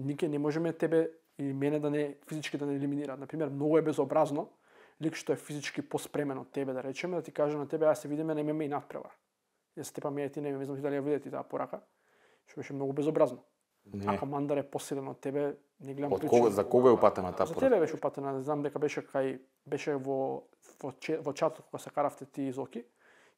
Никој не можеме тебе и мене да не физички да не елиминираат. Например, многу е безобразно лик што е физички поспремен од тебе, да речеме, да ти каже на тебе, се видиме на ММА и надпревар. Ја се тепаме ти не знам дали ја видите таа порака, што беше многу безобразно. Не. Ако Мандар е посилен од тебе, не гледам Од причина. кого, за кого е упатена таа За порака? тебе беше упатена, знам дека беше во чатот кога се каравте ти и Зоки,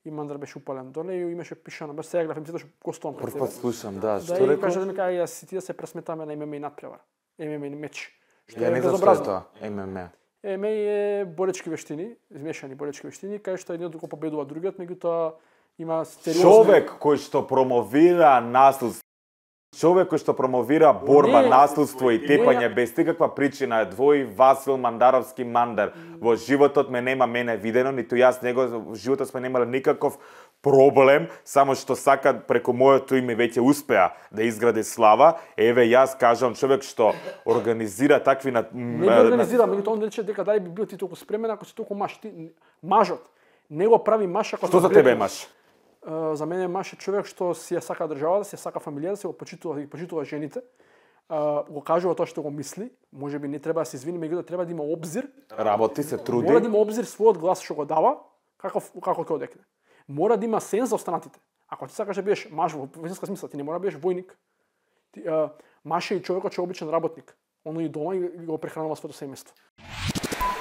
и Мандар беше упален доле и имаше пишано, без сега гледам, што гостувам пред Прв тебе. пат слушам, да, Да, што и рекол? кажа да ми кај јас и ти да се пресметаме на ММА и надпревар. ММА и меч. Што Ја е не знам што е безобразно. тоа, ММА. ММА е боречки вештини, измешани боречки вештини, кај што едниот го победува другиот, меѓутоа има стериозни... Човек кој што промовира насилство, човек кој што промовира борба, Не, насилство и тепање не. без никаква причина е двој Васил Мандаровски Мандар. Во животот ме нема мене видено, ниту јас него, во животот сме немале никаков проблем, само што сака преку моето име веќе успеа да изгради слава. Еве јас кажам човек што организира такви Не ги организира, меѓутоа он рече дека дали би бил ти толку спремен ако си толку маж. Мажот не го прави маж ако Што за тебе е маж? За мене маж е човек што си ја сака државата, си ја сака фамилијата, си го почитува жените. Го кажува тоа што го мисли, можеби не треба да се извини, меѓутоа треба да има обзир. Работи се, труди. Мора да има обзир својот глас што го дава, како ќе одекне. Мора да има сенс за останатите. Ако ти сакаш да бидеш маж во вистинска смисла, ти не мора да бидеш војник. Маж е и човекот што е обичен работник. Оно и дома и го прехранува своето семејство.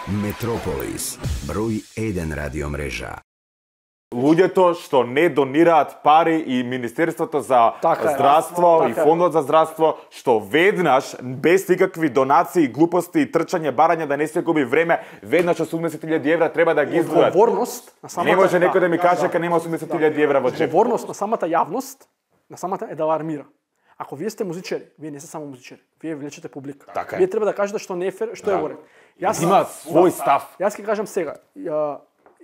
Метрополис, број 1 радиомрежа. Луѓето што не донираат пари и Министерството за Така е, здравство така и е. Фондот за здравство, што веднаш, без никакви донации, глупости и трчање, барање, да не се губи време, веднаш 80.000 евра треба да ги издвојат. Одговорност на самата Не може некој да ми каже дека нема 80.000 евра во джеп. Одговорност на самата јавност, на самата е да алармира. Ако вие сте музичари, вие не сте само музичари, вие влечете публика. Така е. Вие треба да кажете што не е фер, што е во ред. Има свој став. Јас ќе кажам сега,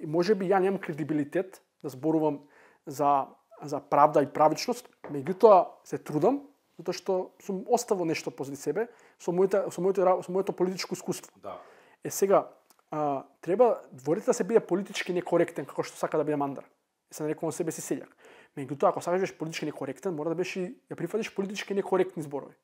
може би ја немам кредибилитет да зборувам за правда и правичност, меѓутоа се трудам, затоа што сум оставил нешто позади себе со моето политичко искуство. Да. Сега, треба дворите да се биде политички некоректен, како што сака да биде Мандар. Се нарекувам себе си селјак. Меѓутоа, ако сакаш да бидеш политички некоректен, мора да бидеш и ја прифатиш политички некоректни зборови.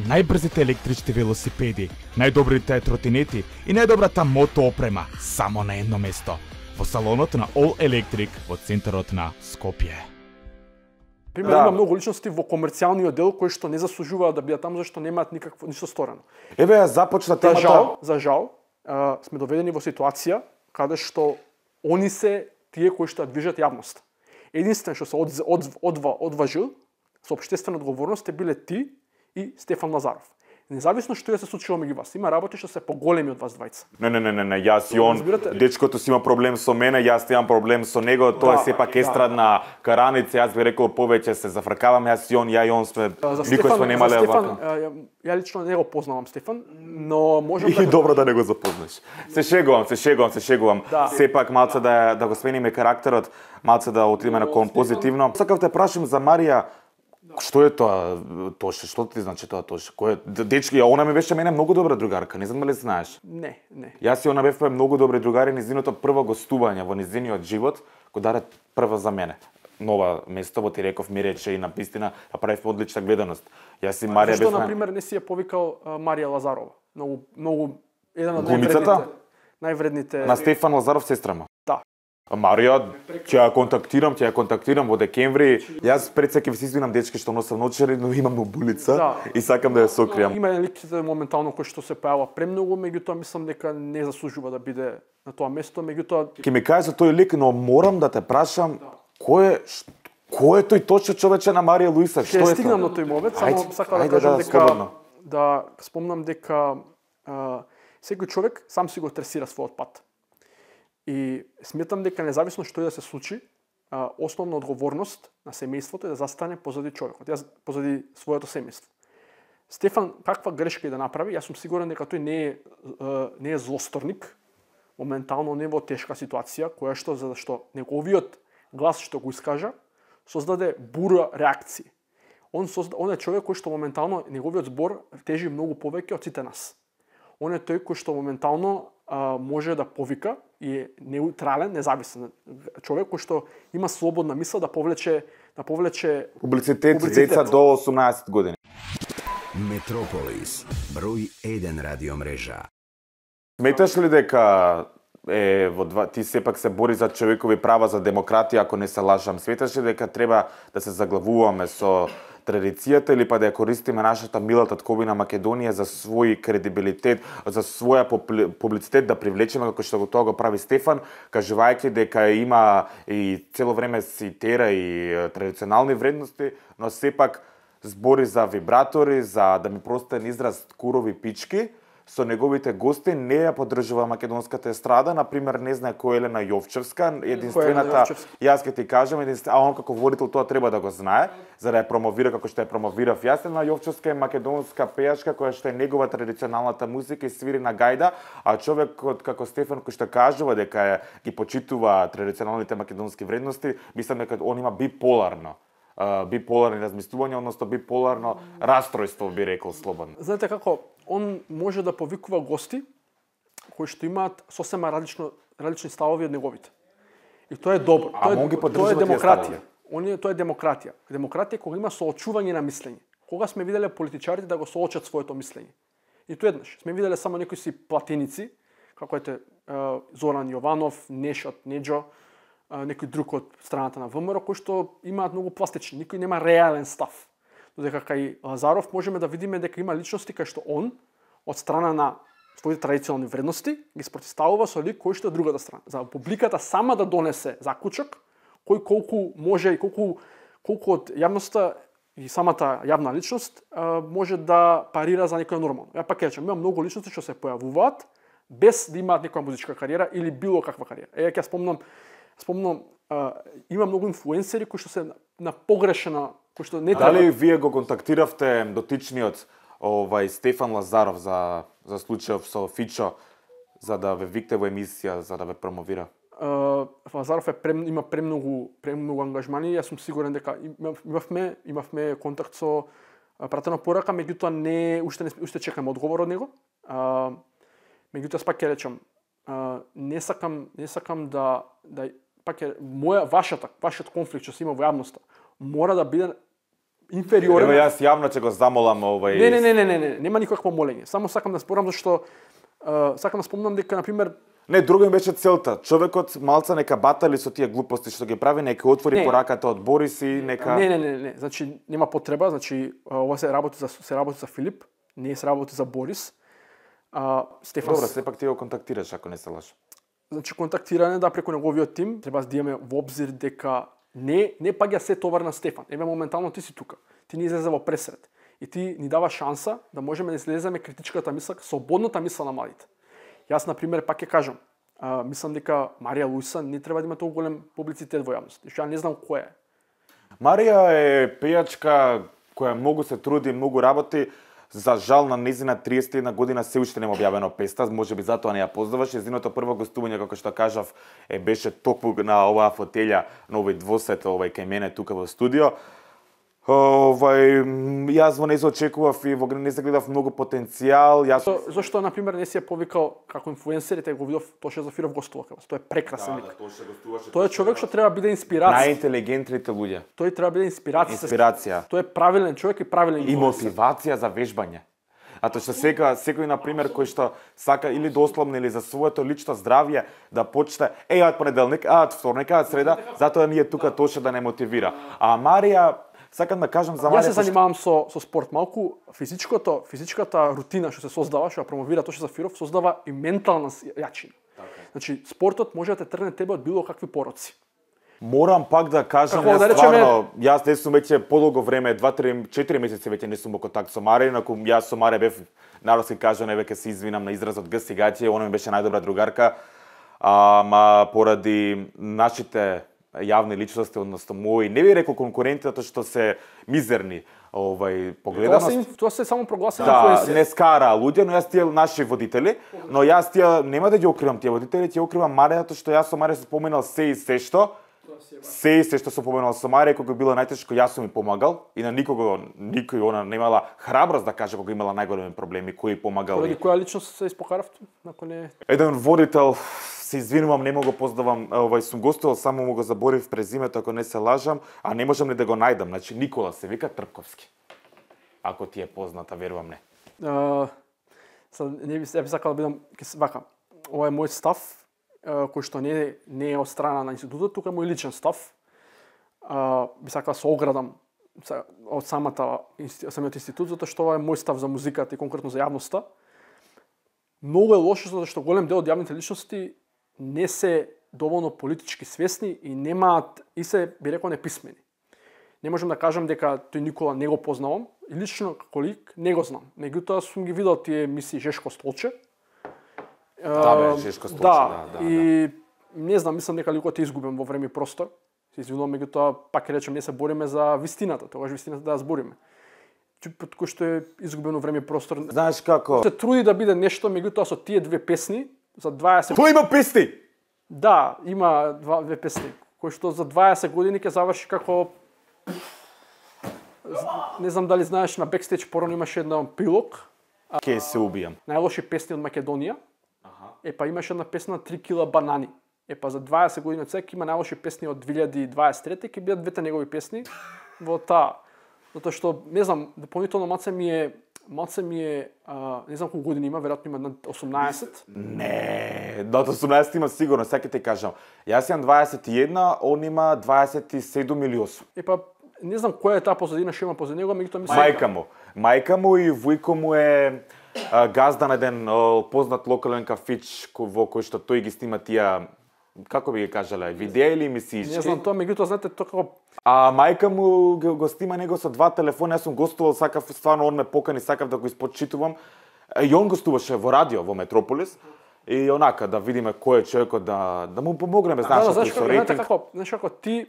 најбрзите електрични велосипеди, најдобрите тротинети и најдобрата мото опрема само на едно место, во салонот на All Electric во центарот на Скопје. Пример, има многу личности во комерцијалниот дел кои што не заслужуваат да бидат таму зашто немаат ништо сторено. Еве ја започна темата. За жал, сме доведени во ситуација каде што они се тие кои што ја движат јавност. Единствен што се одважил со општествена одговорност биле ти и Стефан Лазаров. Независно што ја се случило меѓу вас, има работи што се поголеми од вас двајца. Не, јас и он, дечкото си има проблем со мене, јас имам проблем со него, тоа е сепак естрадна караница, јас би рекол повеќе се зафркаваме, јас и он, ја и он сме, никој сме немале вака. Ја лично не го познавам Стефан, но можам да... И добро да не го запознаш. Се шегувам. Сепак малце да го смениме карактерот, малце да отидеме на кон позитивно. Сакав те прашам за Марија. Што е тоа Тоше? Што ти значи тоа Тоше? Кој е дечки? Она ми беше мене многу добра другарка, не знам дали знаеш. Не. Јас и она бевме многу добри другари, низиното прво гостување во низиниот живот го даде прво за мене. Нова место во Ти реков ми рече и на вистина ја правивме одлична гледаност. Јас и Марија бевме. Зашто на пример не си ја повикал Марија Лазарова? Многу еден од највредните. На Стефан Лазаров сестрама. Да. Марија, ќе ја контактирам во декември. Јас пред се ќе се извинам дечки што носам ночери, но имам обулица и сакам да ја сокријам. Има еден лик моментално кој што се појавува премногу, меѓутоа мислам дека не заслужува да биде на тоа место, меѓутоа ќе ми кажеш за тој лик, но морам да те прашам кој е тој точно човече на Марија Луиса? Што е тоа? Ќе стигнам на тој момент, само сакам да кажам дека да спомнам дека секој човек сам си го тресира својот пат. И сметам дека независно што и да се случи, основна одговорност на семејството е да застане позади човекот, позади своето семејство. Стефан каква грешка и да направи, јас сум сигурен дека тој не е злосторник, моментално не во тешка ситуација, која што зашто неговиот глас што го искажа создаде бура реакции. Он е човек кој што моментално неговиот збор тежи многу повеќе од сите нас. Он е тој кој што моментално може да повика и е неутрален, независен човек кој што има слободна мисла да повлече публицитет деца до 18 години. Метрополис, број 1 радиомрежа. Сметаш ли дека ти сепак се бори за човекови права, за демократија, ако не се лажам? Сметаш ли дека треба да се заглавуваме со традицијата или па да ја користиме нашата мила татковина Македонија за свој кредибилитет, за своја публицитет да привлечеме како што тоа го прави Стефан, кажувајќи дека има и цело време си тера и традиционални вредности, но сепак збори за вибратори, за да ми простен израз курови пички, со неговите гости не ја поддржува македонската естрада, например не знае кој е Елена Јовчевска, единствената, јас ќе ти кажам, а он како водител тоа треба да го знае, за да ја промовира како што ја промовирав јас. Елена Јовчевска е македонска пејачка која што е негова традиционалната музика и свири на гајда, а човекот како Стефан кој што кажува дека ги почитува традиционалните македонски вредности, мислам дека он има биполарни размислувања, односно биполарно расстройство, би рекол слободно. Знаете како, он може да повикува гости кои што имаат сосема различни ставови од неговите. И тоа е добро. Тоа е демократија. Тоа е демократија. Демократија кога има соочување на мислење. Кога сме виделе политичарите да го соочат своето мислење. И тоа еднаш. Сме виделе само некои си платеници, како ете Зоран Јованов, Нешот Неџо, некој друг од страната на ВМРО, кои што имаат многу пластични, никој нема реален став. Додека кај Лазаров можеме да видиме дека има личности кај што он, од страна на своите традиционални вредности, ги спротивставува со лик кој што е другата страна. За публиката сама да донесе заклучок, кој колку може и колку од јавноста и самата јавна личност може да парира за некој нормално. Ја пак речем, има многу личности што се појавуваат без да имаат некоја музичка кариера или било каква кариера. Ќе спомнам, има многу инфлуенсери кои што се на погрешена, кои што не треба. Дали вие го контактиравте дотичниот Стефан Лазаров за случајов со Фичо за да ве викте во емисија, за да ве промовира? Лазаров има премногу ангажмани, јас сум сигурен дека имавме контакт со пратена порака, меѓутоа уште чекам одговор од него. Меѓутоа пак ќе речам, не сакам да пак е вашиот конфликт што се има во јавноста мора да биде инфериорен. Ево јас јавно ќе го замолам Не, нема никакво молење. Само сакам да спорам зашто сакам да спомнам дека на пример Не, друго им беше целта. Човекот малца нека батали со тие глупости што ги прави, нека отвори пораката од Борис и нека Не. Значи нема потреба, значи ова се работи за Филип, не се работи за Борис. Стефан. Добро, сепак ти го контактираш ако не се лажам. Значи контактиране преку неговиот тим, треба да имаме во обзир дека не паѓа се товар на Стефан. Еве моментално ти си тука. Ти ни излезе во пресред и ти ни дава шанса да можеме да излеземе критичката мисла, слободната мисла на младите. Јас на пример пак ќе кажам, мислам дека Марија Луиса не треба да има толку голем публицитет во јавност. Што ја не знам која е. Марија е пејачка која многу се труди, многу работи. За жал на незина 31 година се уште нема објавено песна, можеби затоа не ја познаваш. Незиното прво гостување, како што кажав, беше токму на оваа фотелја, на овој двосет, кај мене тука во студио. Јас во нејзо очекував и во нејзо гледав многу потенцијал. Зошто на пример не си ја повикал како инфлуенсер, те го видов Тоше Зафиров гостува кај вас. Тој е прекрасен лик. Тој е човек што треба да биде инспирација. Најинтелигентните луѓе. Тој треба да биде инспирација. Тој е правилен човек и правилен и мотивација за вежбање. А тоа што секој на пример кој што сака или дословно или за своето лично здравје да почне од понеделник, од вторник, од среда, затоа ние тука Тоше да не мотивира. А Марија сакам да кажам за Марија. Јас се занимавам со спорт малку, физичката рутина што се создава, што ја промовира Тоше Зафиров, создава и ментална јачина. Значи спортот може да те тргне тебе од било какви пороци. Морам пак да кажам, јас не сум веќе подолго време, 2-3-4 месеци веќе не сум во контакт со Марија, инаку јас со Марија бев народски кажано, веќе се извинам на изразот гсигаќе, она ми беше најдобра другарка, ама поради нашите јавни личности, односно мои, не би рекол конкуренти, затоа што се мизерни, погледаност. Тоа се само прогласени инфлуенсери. Да, не скара луѓе, но јас тие наши водители, но јас тие нема да ги окривам тие водители, ќе окривам Марија, затоа што јас со Марија се споменал се што сум поминал со Марија, кога било најтешко, јас сум ми помагал и на никој она немала храброст да каже кога имала најголеми проблеми, кој помагал. Поради која личност се испокаравте? Еден водител, се извинувам, не го познавам, сум гостувал, само му го заборив презимето, ако не се лажам, а не можам ни да го најдам. Значи Никола се вика Трпковски. Ако ти е позната, верувам не. Не би сакал да бидам вака. Ова е мој став, кој што не е од страна на институтот, тука е мој личен став. Би сакал да се оградам од самиот институт, затоа што ова е мој став за музиката и конкретно за јавноста. Многу е лошо затоа што голем дел од јавните личности не се доволно политички свесни и немаат и се би рекол неписмени. Не можам да кажам дека тој Никола не го познавам и лично како лик не го знам. Меѓутоа сум ги видел тие емисии Жешко Столче. Жешко Столче, да. И не знам, мислам дека ликот е изгубен во време и простор. Се извинувам, меѓутоа пак речем не се бориме за вистината, тогаш вистината да ја збориме. Кој што е изгубено време и простор. Знаеш како? Се труди да биде нешто, меѓутоа со тие две песни за 20. Кој има песни? Да, има две песни, кои што за 20 години ќе заврши како не знам дали знаеш, на бекстејдж порано имаше една прилог. Ке се убијам. Најлоши песни од Македонија. Епа имаше една песна 3 кила банани. Епа за 20 години од сега има најлоши песни од 2023, ќе бидат двете негови песни во таа. Затоа што не знам, дополнително маце ми е не знам колку години има, веројатно има 18. Не, до 18 има сигурно, сега ќе ти кажам. Јас имам 21, он има 27 или 8. Епа не знам која е таа позадина што има позади него, меѓутоа мислам Мајка му и вујко му е газда на еден познат локален кафич во кој што тој ги снима тие, како би ги кажале, видеа или емисиички. Не знам тоа, меѓутоа знаете тоа како А мајка му го снима него со 2 телефони, јас сум гостувал, сакав стварно он ме покани, сакав да го испочитувам. И он гостуваше во радио во Метрополис. И онака да видиме кој е човекот да му помогнеме, знаеш, знаеш како ти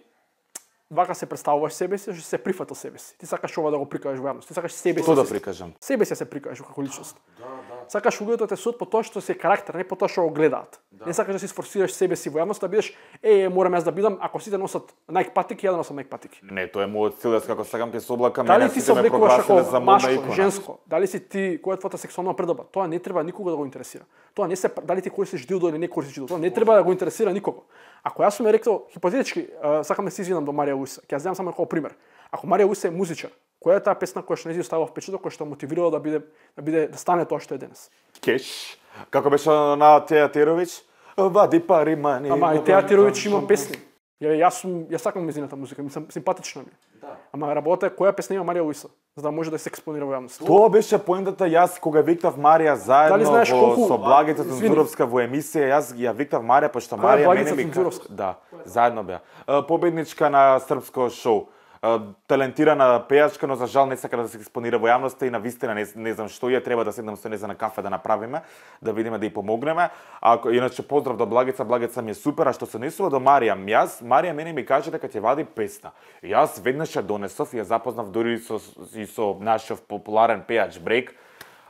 вака се представуваш себе си, што се прифатил себе си. Ти сакаш ова да го прикажеш во јавност. Ти сакаш себе си. Што да прикажам? Себе си се прикажеш како личност. Сакаш луѓето да те судат по тоа што си карактер, не по тоа што го гледаат. Не сакаш да си сфорсираш себе си во јавност, да бидеш морам јас да бидам, ако сите носат Nike патики, ја да носам Nike патики. Не, тоа е мојот цел, јас како сакам ќе се облакам, дали ти се облекуваш како машко, женско, дали си ти која е твојата сексуална предоба, тоа не треба никога да го интересира. Тоа не се дали ти користиш дилдо или не користиш дилдо, тоа не треба да го интересира никого. Ако јас сум рекол хипотетички, сакам да се извинам до Марија Луиса, ќе ја земам само како пример. Ако Марија Луиса е музичар, Која е таа песна која што не си оставила впечаток, која што мотивирала да стане тоа што е денес? Кеш. Како беше на Теја Теровиќ? Вади пари мани. Ама и Теја Теровиќ има песни. Јас сакам незината музика, ми симпатична ми. Ама работа е која песна има Марија Луиса, за да може да се експонира во јавност. Тоа беше поентата, јас кога викнав Марија заедно со Благица Цунзуровска во емисија, јас ја викнав Марија пошто Марија мене ми Цунзуровска? заедно беа. Победничка на српско шоу. Талентирана пејачка, но за жал не сака да се експонира во јавноста и на вистина не знам што ја треба да седнам со неа на кафе да направиме, да видиме да ја помогнеме. Иначе поздрав до Благица, Благица ми е супер, а што се однесува до Марија, Марија мене ми каже дека ќе вади песна. Јас веднаш ја донесов и ја запознав дури со нашиот популарен пејач Брейк,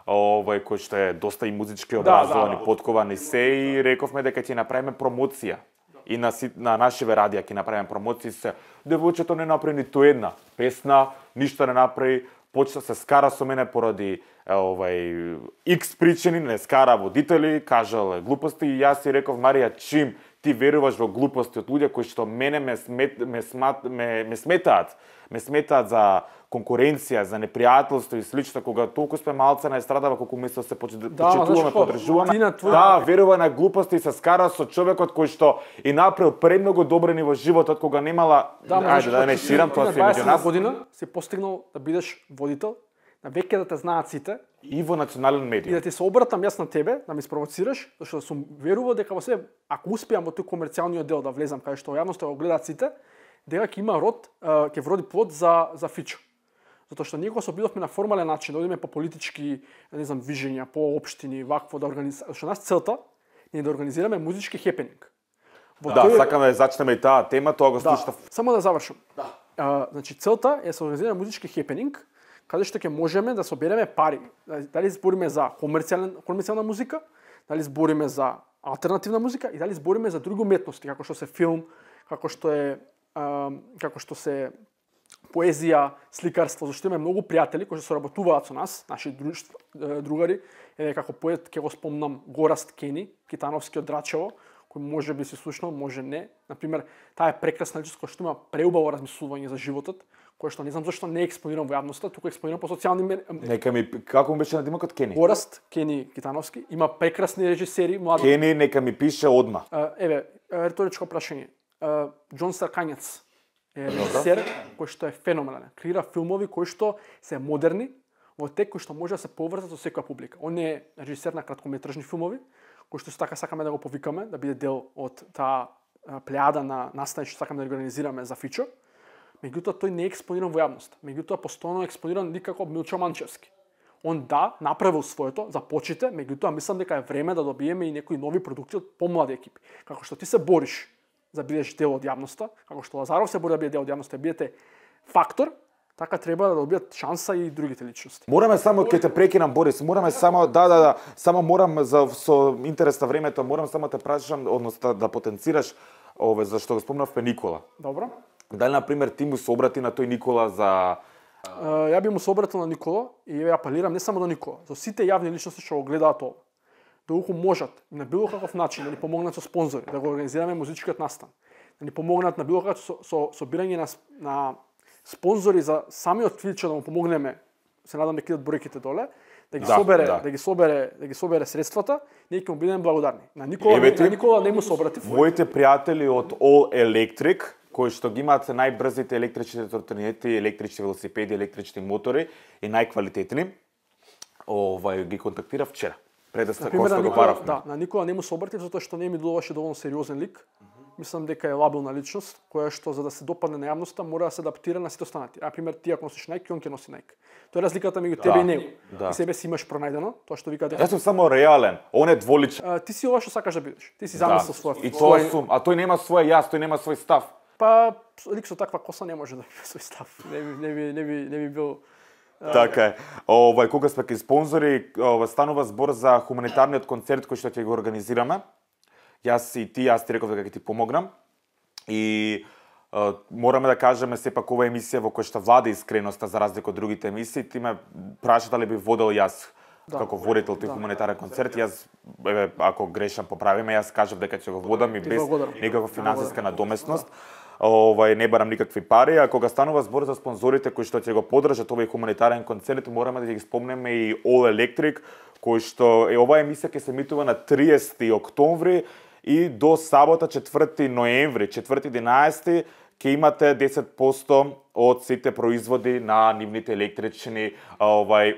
кој што е доста и музички образован и поткован и се, и рековме дека ќе направиме промоција. И на нашиве радија ќе направиме промоции се. Девојчето не направи ниту една песна, ништо не направи, почна се скара со мене поради X причини, не скара водители, кажал глупости и јас си реков Марија, чим ти веруваш во глупости од луѓе кои што мене ме сметаат за конкуренција, за непријателство и слично, кога толку сме малце на естрадава, колку мислам се почитуваме, подржуваме. Верува на глупости и се скара со човекот кој што и направил премногу добрини во животот, кога немала, ајде да не ширам, тоа се меѓу нас. На 20 година си постигнал да бидеш водител, на веќе да те знаат сите. И во национален медиум. И да ти се обратам јас на тебе, да ми спровоцираш, зашто сум верувал дека во себе, ако успеам во тој комерцијалниот дел да влезам кај што јавноста го гледаат сите, дека ќе има род, ќе вроди плод за Фичо. Затоа што ние кога се обидовме на формален начин, да одиме по политички, не знам, вижења, по општини, вакво да организираме, што нас целта е да организираме музички хепенинг. Сакаме да зачнеме и таа тема, тоа го слушав. Само да завршам. Значи целта е да се организира музички хепенинг, каде што ќе можеме да собереме пари. Дали збориме за комерцијална музика, дали збориме за алтернативна музика и дали збориме за други уметности, како што се филм, како што се поезија, сликарство, зашто имаме многу пријатели кои што соработуваат со нас, наши другари, како поет ќе го спомнам Гораст Кени, Китановски од Драчево, кој може би се слушнал, може не. Например, таа е прекрасна личност која што има преубаво размислување за животот, кој што не знам зашто не е експониран во јавноста, туку експониран по социјални Нека ми како му беше надимокот Кени? Гораст Кени Китановски, има прекрасни режисери, млади. Кени нека ми пише одма. Риторичко прашање. Џон Саркањец е режисер кој што е феноменален. Креира филмови кои што се модерни, во тек кои што може да се поврзат со секоја публика. Он е режисер на краткометражни филмови, кој што сакаме да го повикаме, да биде дел од таа плејада на настани што сакаме да организираме за Фичо. Меѓутоа тој не е експониран во јавноста. Меѓутоа постојано е експониран никако Милчо Манчевски. Он направил своето, започите, меѓутоа мислам дека е време да добиеме и некои нови продукти од помлади екипи. Како што ти се бориш за бидеш дел од јавноста, како што Лазаров се бори да биде дел од јавноста, бидете фактор, така треба да добијат шанса и другите личности. Мораме само ќе те прекинам Борис, мораме само само морам со интерес на времето, морам само те прашам, односно да потенцираш зашто го спомнавме Никола. Добро. Дали на пример ти му се обрати на тој Никола за Ја би му се обратил на Никола и ја апелирам не само до Никола, за сите јавни личности што го гледаат ова. Доколку можат на било каков начин да ни помогнат со спонзори, да го организираме музичкиот настан, да ни помогнат на било како собирање на спонзори за самиот Фичо да му помогнеме, се надам дека идат бројките доле, да ги собере средствата, ние ќе му бидеме благодарни. На Никола не му се обратив. Моите пријатели од All Electric, кои што ги имаат најбрзите електрични тротинети, електрични велосипеди, електрични мотори и најквалитетни, ги контактира вчера. Пред да се го баравме. Да, на Никола не му се обратив затоа што не ми делуваше доволно сериозен лик. Мислам дека е лабилна личност, која што за да се допадне на јавноста мора да се адаптира на сите останати. На пример, ти ако носиш Nike, он ќе носи Nike. Тоа е разликата меѓу тебе и него. И себе си имаш пронајдено, тоа што викате. Јас сум само реален, он е дволичен. Ти си ова што сакаш да бидеш. Ти си замислил свој. И тоа сум, а тој нема свој јас, тој нема свој став. Па лик со таква коса не може да има свој став. Не би бил. Така е. Кога сме кај спонзори, станува збор за хуманитарниот концерт кој што ќе го организираме. Јас ти реков дека ќе ти помогнам. И мораме да кажеме сепак ова емисија во која што влада искреноста за разлика од другите емисии. Ти ме праша дали би водел јас како водител тој хуманитарен концерт. Јас ако грешам поправиме, јас кажав дека ќе го водам и без никаква финансиска надоместност. не барам никакви пари, а кога станува збор за спонзорите кои што ќе го поддржат овој хуманитарен концерт, мораме да ги спомнеме и All Electric, кој што оваа емисија ќе се емитува на 30 октомври и до сабота 4 ноември, 4-11 ќе имате 10% од сите производи на нивните електрични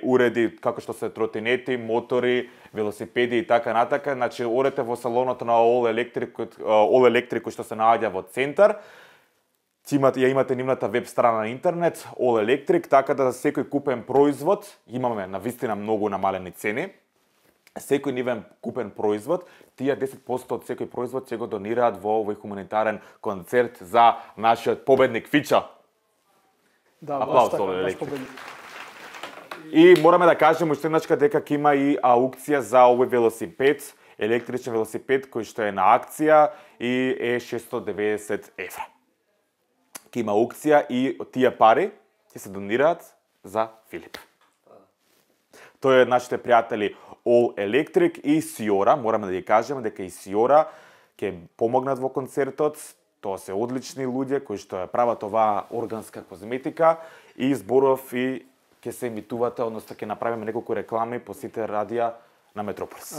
уреди, како што се тротинети, мотори, велосипеди и така натака. Значи, одете во салонот на All Electric, кој што се наоѓа во центар. Ја имате нивната веб страна на интернет, All Electric, така да за секој купен производ, имаме навистина многу намалени цени, секој нивен купен производ, тие 10% од секој производ ќе го донираат во овој хуманитарен концерт за нашиот победник Фичо. Да, аплауз All Electric. И мораме да кажеме уште еднашка дека ќе има и аукција за овој велосипед, електричен велосипед кој што е на акција и е 690 евра. Ќе има аукција и тие пари ќе се донираат за Филип. Тој е нашите пријатели All Electric и Сиора, мораме да ги кажеме дека и Сиора ќе помогнат во концертот. Тоа се одлични луѓе кои што ја прават оваа органска козметика и зборов и ќе се емитувате, односно ќе направиме неколку реклами по сите радија на Метрополис.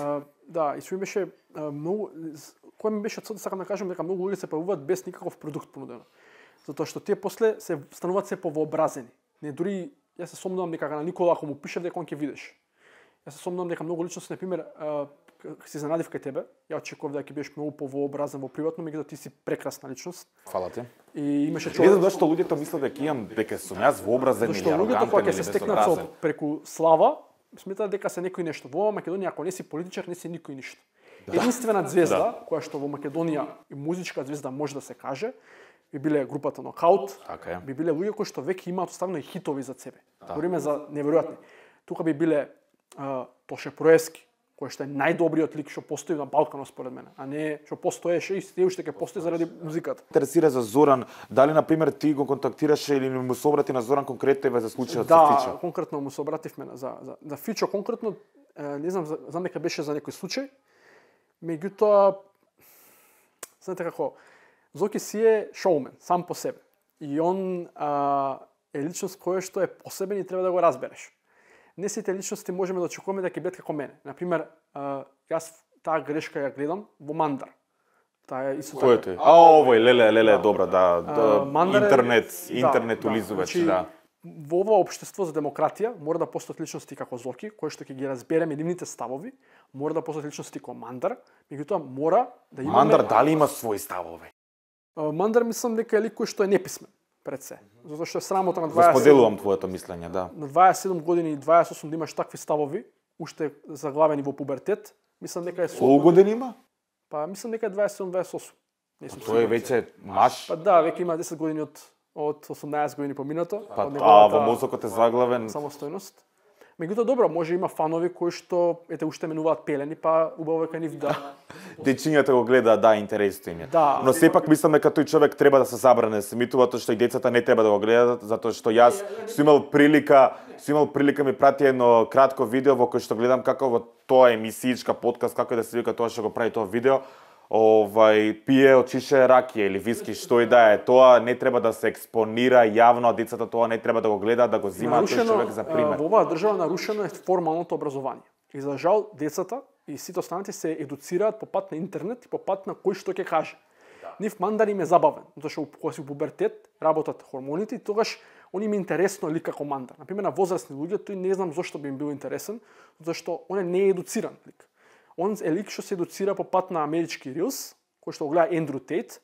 Да, и што ми беше многу, кој ми беше цел, сакам да кажам дека многу луѓе се појавуваат без никаков продукт понудено. Затоа што тие после се стануваат се повообразени. Не дури јас се сомнувам дека на Никола ако му пишев дека он ќе видиш. Јас се сомнувам дека многу личности, на пример, се изненадив кај тебе. Ја очекував дека ќе бидеш многу повообразен во приватно, меѓутоа ти си прекрасна личност. Фала ти. И имаше човек. Не знам зашто луѓето мислат дека имам дека сум јас вообразен или арогантен. Зашто луѓето кога ќе се стекнат со преку слава, сметаат дека се некој нешто. Во Македонија ако не си политичар, не си никој ништо. Да. Единствена звезда, која што во Македонија и музичка звезда може да се каже, би биле групата Нокаут, би биле луѓе кои што веќе имаат оставено и хитови за себе. Говориме за неверојатни. Тука би биле Тоше Проески, кој што е најдобриот лик што постои на Балканот според мене, а не што постоеше и се уште ќе постои заради музиката. Интересира за Зоран, дали на пример ти го контактираше или му се обрати на Зоран конкретно за случајот со Фичо? Да, конкретно му се обративме за Фичо конкретно, не знам дека беше за некој случај. Меѓутоа знаете како Зоки си е шоумен сам по себе и он е личност која што е посебен и треба да го разбереш. Не сите личности можеме да очекуваме да ќе бидат како мене. На пример, јас таа грешка ја гледам во Мандар. Таа е исто така. Кој е тој? Овој леле добра, интернет улизувач, да. Во ова општество за демократија мора да постојат личности како Зоки, кои што ќе ги разбереме нивните ставови, мора да постојат личности како Мандар, меѓутоа мора да имаме Мандар дали има своји ставови? Мандар мислам дека е лик кој што е неписмен пред се. Затоа што е срамота на 27. Споделувам твоето мислење, да. На 27 години и 28 да имаш такви ставови, уште заглавени во пубертет, мислам дека е Колку години има? Па мислам дека е 27-28. Тој е веќе маш. Па да, веќе има 10 години од 18 години поминато. Па во мозокот е заглавен самостојност. Меѓутоа добро, може има фанови кои што уште менуваат пелени, па убаво дека нив да. Дечињата го гледаат, да, интересно им е. Да. Но сепак мислам дека тој човек треба да се забране да се емитува, тоа што и децата не треба да го гледаат, затоа што јас сум имал прилика ми прати едно кратко видео во кој што гледам како во тоа емисијичка подкаст, како да се вика тоа што го прави тоа видео, пие од чише ракија или виски, што и да е, тоа не треба да се експонира јавно, а децата тоа не треба да го гледаат, да го земаат тој човек за пример. Во оваа држава нарушено е формалното образование. И за жал децата и сите останати се едуцираат по пат на интернет и по пат на кој што ќе каже. Нив Мандар им е забавен, затоа што кога си во пубертет работат хормоните и тогаш он им е интересно лик како Мандар. На пример на возрастни луѓе тој не знам зошто би им бил интересен, затоа што он не е едуциран лик. Он е лик што се едуцира по пат на амерички рилс, кој што го гледа Ендрю Тейт.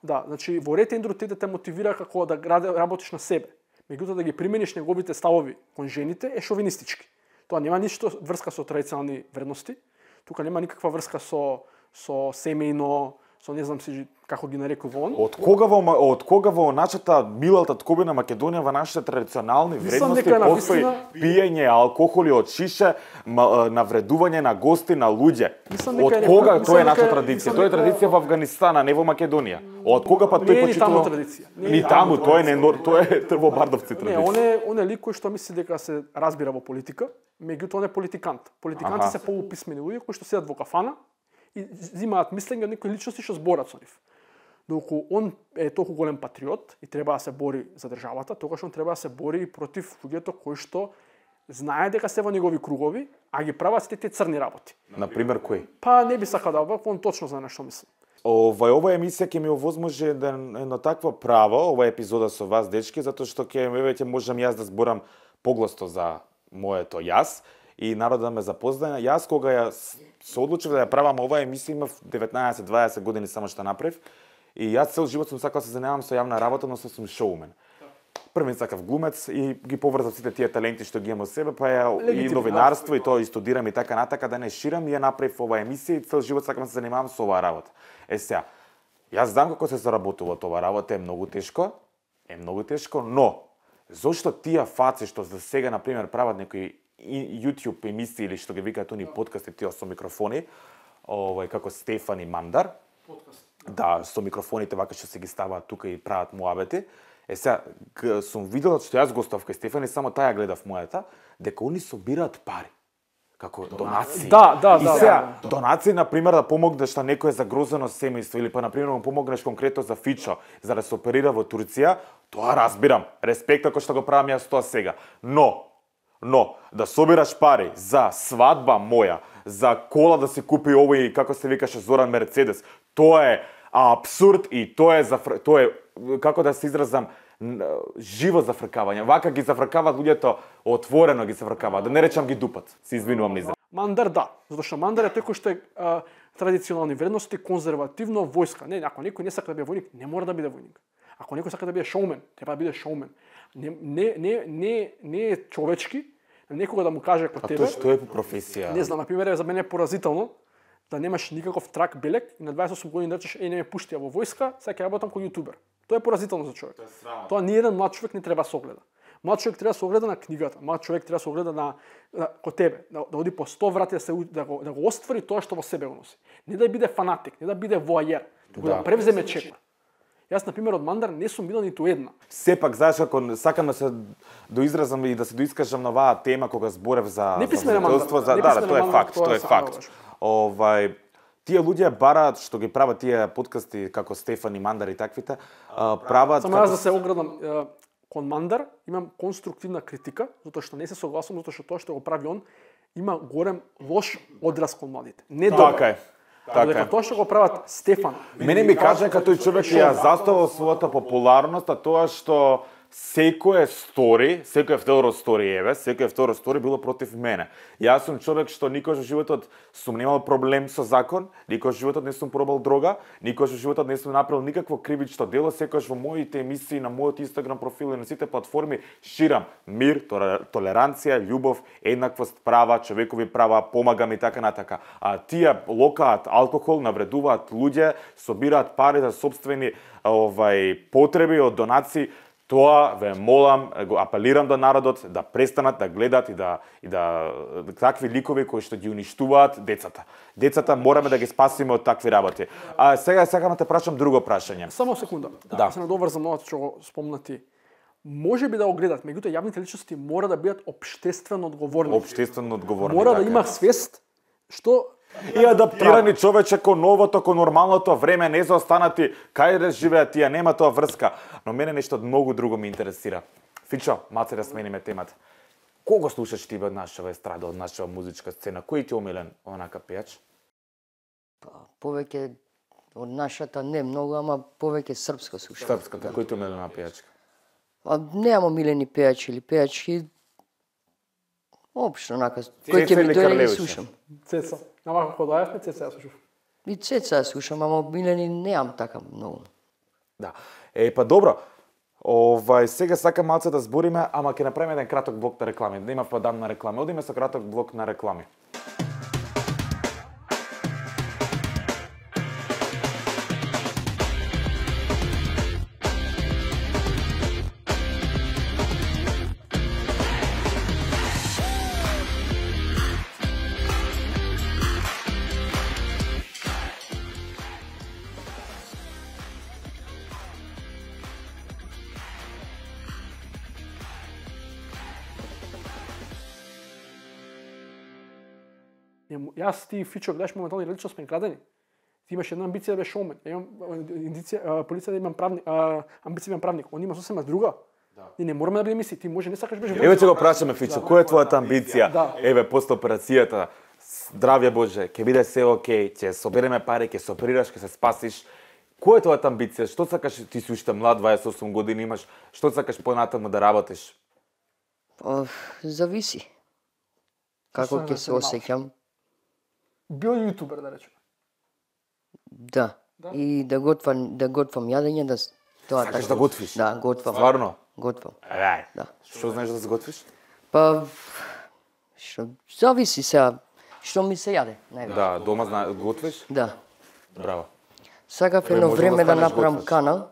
Да, значи во ред Ендрю Тейт те мотивира како да работиш на себе. Меѓутоа да ги примениш неговите ставови кон жените е шовинистички. Тоа нема ништо врска со традиционални вредности. Тука нема никаква врска со семејно, со не знам си како ги нарекува он. Од кога во нашата милата ткобина Македонија во нашите традиционални вредности постои пиење алкохоли од шише, навредување на гости, на луѓе. Од кога тоа е наша традиција? Тоа е традиција во Авганистан, а не во Македонија. Од кога па тој почитува? Ни таму, тоа е во Бардовци традиција. Не, он е лик кој што мисли дека се разбира во политика, меѓутоа он е политикант. Политиканти се поуписмени луѓе кои што седат во кафана и земаат мислење од некои личности што зборат со нив. доколку он е толку голем патриот и треба да се бори за државата, тогаш он треба да се бори и против луѓето кои што знае дека се во негови кругови, а ги прават сите тие црни работи. Например, кој? Па не би сакал да он точно знае на што мислам. Ова емисија ќе ми овозможи едно такво право, ова епизода со вас, дечки, затоа што ќе можам јас да зборам погласно за моето јас и народот да ме запознае. Јас кога ја се одлучив да ја правам оваа емисија, имав 19-20 години само што направив и јас цел живот сум сакал да се занимавам со јавна работа, но сум шоумен. Првен сакав глумец и ги поврзав сите тие таленти што ги имам во себе, па и новинарство и тоа и студирам и така натака да не ширам и ја направив оваа емисија и цел живот сакам да се занимавам со оваа работа. Сега, јас знам како се заработува тоа работа, е многу тешко, но зошто тие фаци што за сега на пример прават некои YouTube емисии или што ги викаат они подкасти тие со микрофони, како Стефан и Мандар. Да, со микрофоните вака што се ги ставаат тука и прават муабети. Сега, сум видел што јас гостував кај Стефан и само таа гледав мојата, дека они собираат пари. Како донации. Да. И сега, донации, например, да помогнеш на некое загрозено семејство или па, например, му помогнеш конкретно за Фичо, за да се оперира во Турција, тоа разбирам. Респект ако што го правам јас тоа сега. Но, да собираш пари за свадба моја, за кола да се купи овој, како се викаше, Зоран Мерцедес, тоа е абсурд и тоа е, како да се изразам, живо зафркавање. Вака ги зафркаваат луѓето, отворено ги зафркаваат. Да не речам ги дупат. Се извинувам низа. Мандар да, затоа што Мандар е тој кој што е традиционални вредности, конзервативно војска. Ако некој не сака да биде војник, не мора да биде војник. Ако некој сака да биде шоумен, треба да биде шоумен. Не е човечки некога да му каже како тебе. А тоа што е по професија? Не знам, на пример, за мене е поразително да немаш никаков трак белек и на 28 години да речеш не ме пуштија во војска, сега ќе работам како јутубер. Тоа е поразително за човек. Тоа ни еден млад човек не треба да се огледа. Млад човек треба да се огледа на книгата, млад човек треба да се огледа на ко тебе, да оди по 100 врати да го оствари тоа што во себе го носи. Не да биде фанатик, не да биде воајер, туку да превземе чекор. Јас на пример од Мандар не сум видел ниту една. Сепак, знаеш, ако сакам да се доизразам и да се доискажам на оваа тема кога зборев за водителство, тоа е факт. Тие луѓе бараат што ги прават тие подкасти како Стефан и Мандар и таквите, прават само јас да се оградам кон Мандар, имам конструктивна критика, затоа што не се согласувам, затоа што тоа што го прави он има голем лош одраз кон младите. Не добро. Така е. Тоа што го прават Стефан. Мене ми кажа дека тој човек ја заставил својата популарност, а тоа што секое второ стори било против мене. Јас сум човек што никош во животот сум немал проблем со закон, никош во животот не сум пробал дрога, никош во животот не сум направил никакво кривично дело, секогаш во моите емисии на мојот Инстаграм профил и на сите платформи ширам мир, толеранција, љубов, еднаквост, права, човекови права, помагам и така натака. А тие локаат алкохол, навредуваат луѓе, собираат пари за сопствени потреби од донации. Тоа ве молам, го апелирам до народот да престанат да гледат и да такви ликови кои што ги уништуваат децата. Децата мораме да ги спасиме од такви работи. А сега сакам да те прашам друго прашање. Само секунда. Да се надоврзам на ова што го спомна ти. Може би да го гледат, меѓутоа јавните личности мора да бидат општествено одговорни. Мора да има свест што и адаптирани човече кон новото, кон нормалното време, не заостанати кај да живеат тие, нема тоа врска. Но мене нешто многу друго ме интересира. Фичо, малце да смениме темата. Кого слушаш ти од нашава естрада, од нашава музичка сцена? Кој ти омилен онака пејач? Повеќе од нашата не многу, ама повеќе српска слушам. Српската, кој ти омилена пејачка? Немам омилени пејачи или пејачки. Општо онака, кој ќе ми дојде ги слушам. Цеца. Ама како доаѓавме, Цеца ја слушав. И Цеца ја слушам, ама омилени немам така многу. Да. Па добро. Сега сакам малце да збориме, ама ќе направиме еден краток блок на реклами. Да има падам на реклами. Одиме со краток блок на реклами. Јас ти Фичо гледаш моментално и лично сме крадени. Ти имаш една амбиција да бидеш шоумен. Имам полиција да имам правник, амбиција да имам правник. Он има сосема друга. Ние не мораме да бидеме исти. Ти може не сакаш бидеш. Еве ќе го прашаме Фичо, која е твојата амбиција? Еве после операцијата, здравје Боже, ќе биде се окей, ќе собереме пари, ќе се оперираш, ќе се спасиш. Која е твојата амбиција? Што сакаш, ти си уште млад, 28 години имаш, што сакаш понатаму да работиш? Зависи. Како ќе се осеќам. Бил јутубер, да речеме. Да. И да готвам јадење, да тоа Сакаш да готвиш? Да, готвам. Стварно? Готвам. Да. Што знаеш да се готвиш? Па што зависи сега што ми се јаде, највеќе. Да, дома готвиш? Да. Браво. Сакав едно може да време да станеш направам готвач. канал,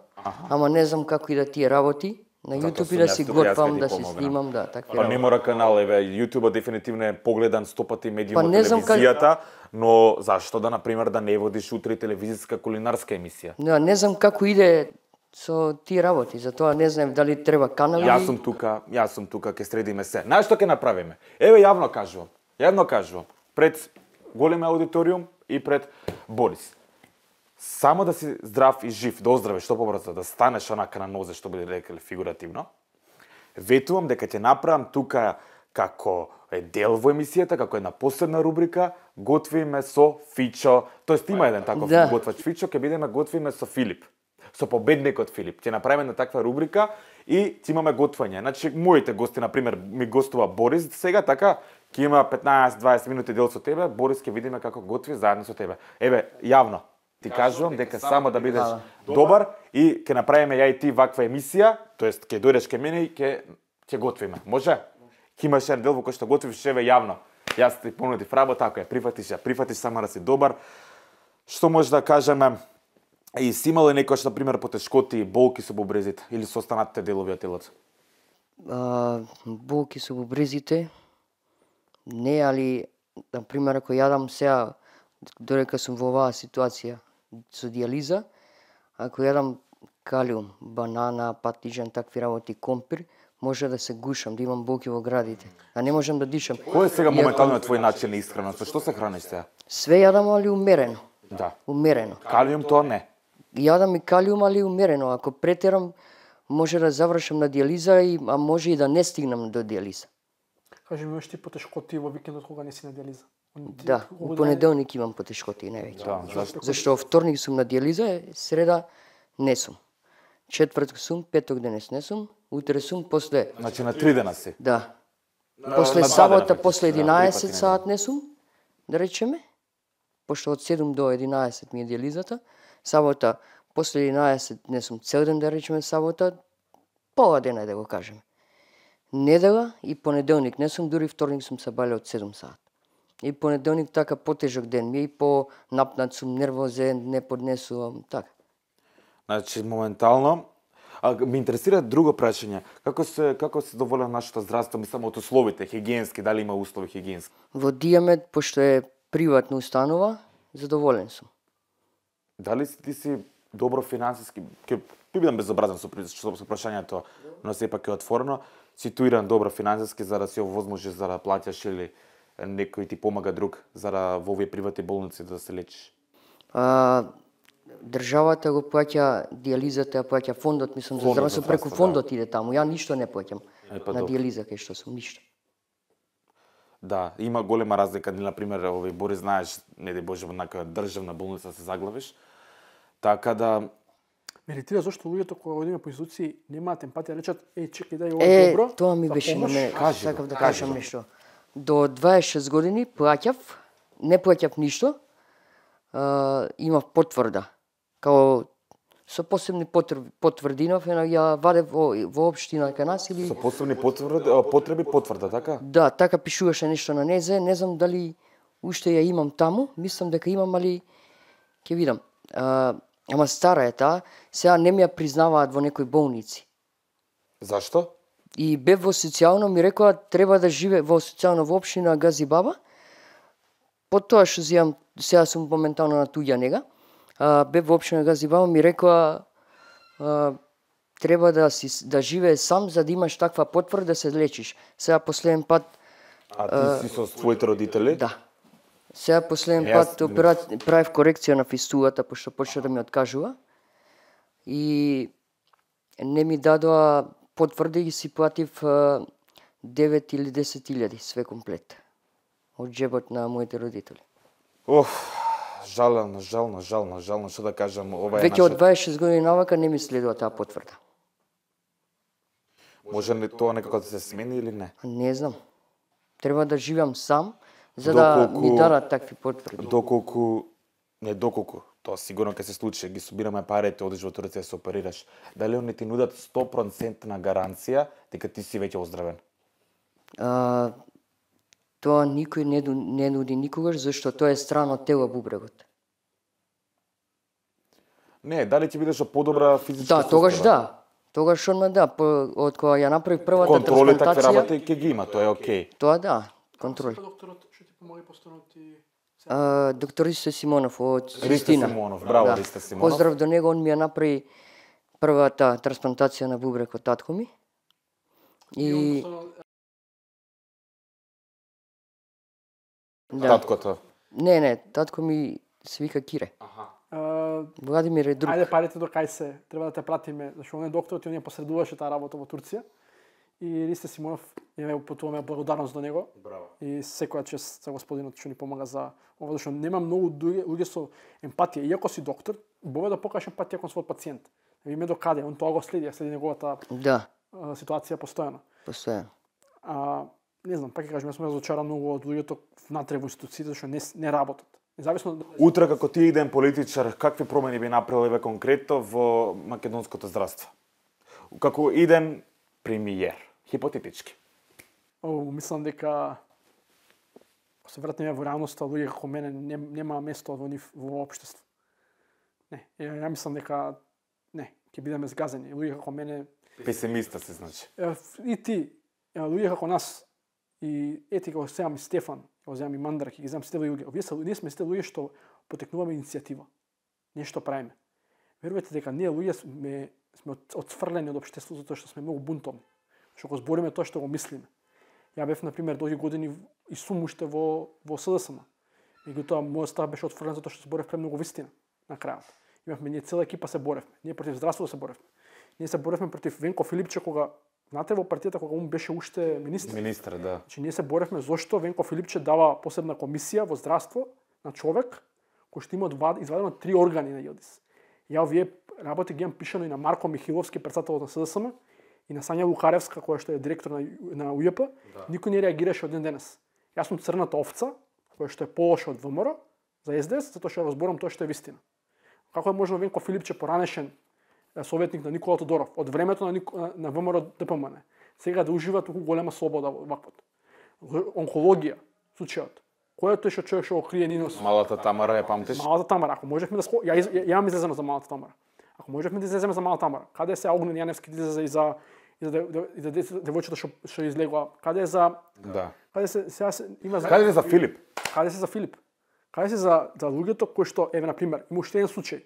ама не знам како и да тие работи. На Затоа YouTube и сум да јас си тука, јас готвам, ќе ти да си помогнам. снимам, да, такви Па не работи. мора канал, еве, YouTube дефинитивно е погледан 100 пати медиум Па од не знам телевизијата, но зашто да, например, да не водиш утре телевизиска кулинарска емисија? Да, не знам како иде со тие работи, затоа не знам дали треба канал Јас или... сум тука, ќе средиме се. Знаеш што ќе направиме? Еве јавно кажувам, пред голем аудиториум и пред Борис. Само да си здрав и жив, да оздравиш што побрзо, да станеш онака на нозе, што би рекли фигуративно. Ветувам дека ќе направам тука како е дел во емисијата, како една посебна рубрика, готвиме со Фичо. Тоест има еден таков готвач Фичо, ќе бидеме готвиме со Филип. Со победникот Филип. Ќе направиме на таква рубрика и ќе имаме готвање. Значи, моите гости, например, ми гостува Борис сега, така, ќе има 15-20 минути дел со тебе, Борис ќе видиме како готви заедно со тебе. Еве, јавно. Ти кажувам дека само да бидеш добар и ќе направиме ја и ти ваква емисија, тоест ќе дојдеш кај мене и ќе готвиме. Може? Ќе имаш еден дел во кој што готвиш еве јавно. Јас ти понудив работа, ако ја прифатиш само да си добар. Што може да кажеме? И си имал ли некојаш, например, потешкоти, болки со бубрезите или со останатите делови од телото? Болки со бубрезите не, али например ако јадам сега, додека сум во оваа ситуација со дијализа, ако јадам калиум, банана, патиџан, такви работи, компир, може да се гушам, да имам болки во градите, а не можам да дишам. Кој е сега моментално твој начин на исхрана? Со што се храниш сега? Све јадам, али умерено. Да. Умерено. Калиум тоа не. Јадам и калиум, али умерено. Ако претерам, може да завршам на дијализа, а може и да не стигнам до дијализа. Кажи ми, имаш ти потешкоти во викендот кога не си на дијализа? Да, у понеделник имам потешкоти највеќе. Да, Зашто вторник сум на дијализа, среда не сум. Четврток сум, петок денес не сум, утре сум после... Значи на 3 дена си. Да. После на сабота, дена, после да, 11 три пати саат не сум, да речеме. Пошто од 7 до 11 ми е дијализата. Сабота, после 11 не сум цел ден, да речеме сабота, пола дена да го кажеме. Недела и понеделник не сум, дури вторник сум се бале од 7 саат. И понеделник така потежок ден ми е и по-напнат сум, нервозен, не поднесувам, така. Значи, моментално, ме интересира друго прашање. Како се доволен нашето здравство, мислам, од условите, хигиенски, дали има услови хигиенски? Во Дијамед, пошто е приватна установа, задоволен сум. Дали ти си добро финансиски, ќе бидам безобразен со прашањето, но сепак е отворено, ситуиран добро финансиски за да си овозможиш за да плаќаш или некој ти помага друг за да во овие приватни болници да се лечиш? Државата го плаќа дијализата, ја плаќа фондот, мислам, за здравство преку фондот иде таму. Ја ништо не плаќам на дијализа кај што сум, ништо. Да, има голема разлика, например, овој Борис, знаеш, не ди Боже, во некоја државна болница се заглавиш. Така да Ме иритира зашто луѓето кога одиме по институции немаат емпатија, речат чекај дај ова добро. Тоа ми беше на мене, сакав да кажам нешто. До 26 години плаќав, не плаќав ништо. Имав потврда. Као со посебни потврдинов, ја вадев во општина кај нас или... Со посебни потреби потврда, така? Да, така пишуваше нешто на незе, не знам дали уште ја имам таму, мислам дека имам, али ќе видам. Ама стара е таа, сега не ми ја признаваат во некои болници. Зашто? И бев во социјално, ми рекоа треба да живе во социјално во општина Газибаба. Потоа што зијам, сега сум моментално на туѓа нега, бев во општина Газибаба, ми рекоа треба да живее сам за да имаш таква потврда да се лечиш. Сега последен пат... ти си со твоите родители? Да. Сега последен пат правив корекција на фистулата, пошто почна да ми откажува. И не ми дадоа потврди и си платив 9 или 10.000 све комплет. Од джебот на моите родители. Жално, што да кажам, ова е Веќе од 26 години навака не ми следува таа потврда. Може ли тоа некако да се смени или не? Не знам. Треба да живеам сам, за да ми дадат такви потврди. Доколку, тоа сигурно ќе се случи, ги собираме парите, одиш во Турција се оперираш. Дали они ти нудат 100% гаранција дека ти си веќе оздравен? Тоа никој не нуди никогаш, зашто тоа е страно од тело бубрегот. Не, дали ќе бидеш подобра физичка Да, тогаш да. Тогаш одма да, од кога ја направив првата контроли такви трансплантација. работи ќе ги има, тоа е окей. Тоа да, контроли. Докторот што ти помоги постојано ти Доктор Ристо Симонов од Ристо Систина. Симонов, браво Ристо Симонов. Поздрав до него, он ми ја направи првата трансплантација на бубрек од татко ми. И Таткото. Не, татко ми се вика Кире. Владимир е друг. Ајде парите до кај се, треба да те пратиме, зашто он е докторот и он ја посредуваше таа работа во Турција. И Ристо Симонов ја потуваме благодарност до него. Браво. И секоја чест за господинот што ни помага за ова, зашто нема многу луѓе со емпатија. Иако си доктор, бове да покажеш емпатија кон својот пациент. Да видиме до каде, он тоа го следи, следи неговата ситуација постојано. Не знам, пак ќе кажам, јас сум разочаран многу од луѓето внатре во институциите што не работат. Независно Утре како ти иден политичар, какви промени би направил еве конкретно во македонското здравство? Како иден премиер, хипотетички. Мислам дека ако се вратиме во реалноста, луѓе како мене нема место во општество. Не, ја мислам дека не, ќе бидеме згазени. Луѓе како мене Песимиста се значи. И ти, луѓе како нас, и ети како сега ми Стефан, како земам и Мандрак, и ги земам сите луѓе. Ние сме сите луѓе што потекнуваме иницијатива. Нешто правиме. Верувате дека ние луѓе сме отсфрлени од општеството затоа што сме многу бунтовни. Што го збориме тоа што го мислиме. Ја бев на пример долги години и сум уште во СДСМ. Меѓутоа мојот став беше отфрлен затоа што зборев премногу вистина на крајот. Имавме ние цела екипа се боревме. Ние против здравството се боревме. Ние се боревме против Венко Филипче кога внатре во партијата кога он беше уште министер. Министер, да. Значи ние се боревме зошто Венко Филипче дава посебна комисија во здравство на човек кој што има извадено 3 органи на Јилдис. Ја овие работи ги имам пишано и на Марко Михиловски, председател на СДСМ, и на Сања Лукаревска, која што е директор на УЈП. Да. Никој не реагираше од ден денес. Јас сум црната овца, која што е полоша од ВМРО за СДС, затоа што ја разборам тоа што е вистина. Како е можно Венко Филипче поранешен советник на Никола Тодоров од времето на ВМРО ДПМН, сега да ужива толку голема слобода во ваквот. Онкологија, случајот. Кој е тој што човек што го крие Нинос? Малата Тамара ја памтиш? Малата Тамара, ако можевме да ја имам излезено за Малата Тамара. Ако можевме да излеземе за Малата Тамара, каде се Огнен Јаневски да излезе и за девојчето што излегува? Каде е за Да. Каде се сега има Каде е за Филип? Каде се за Филип? Каде се за луѓето кои што еве на пример, има уште еден случај.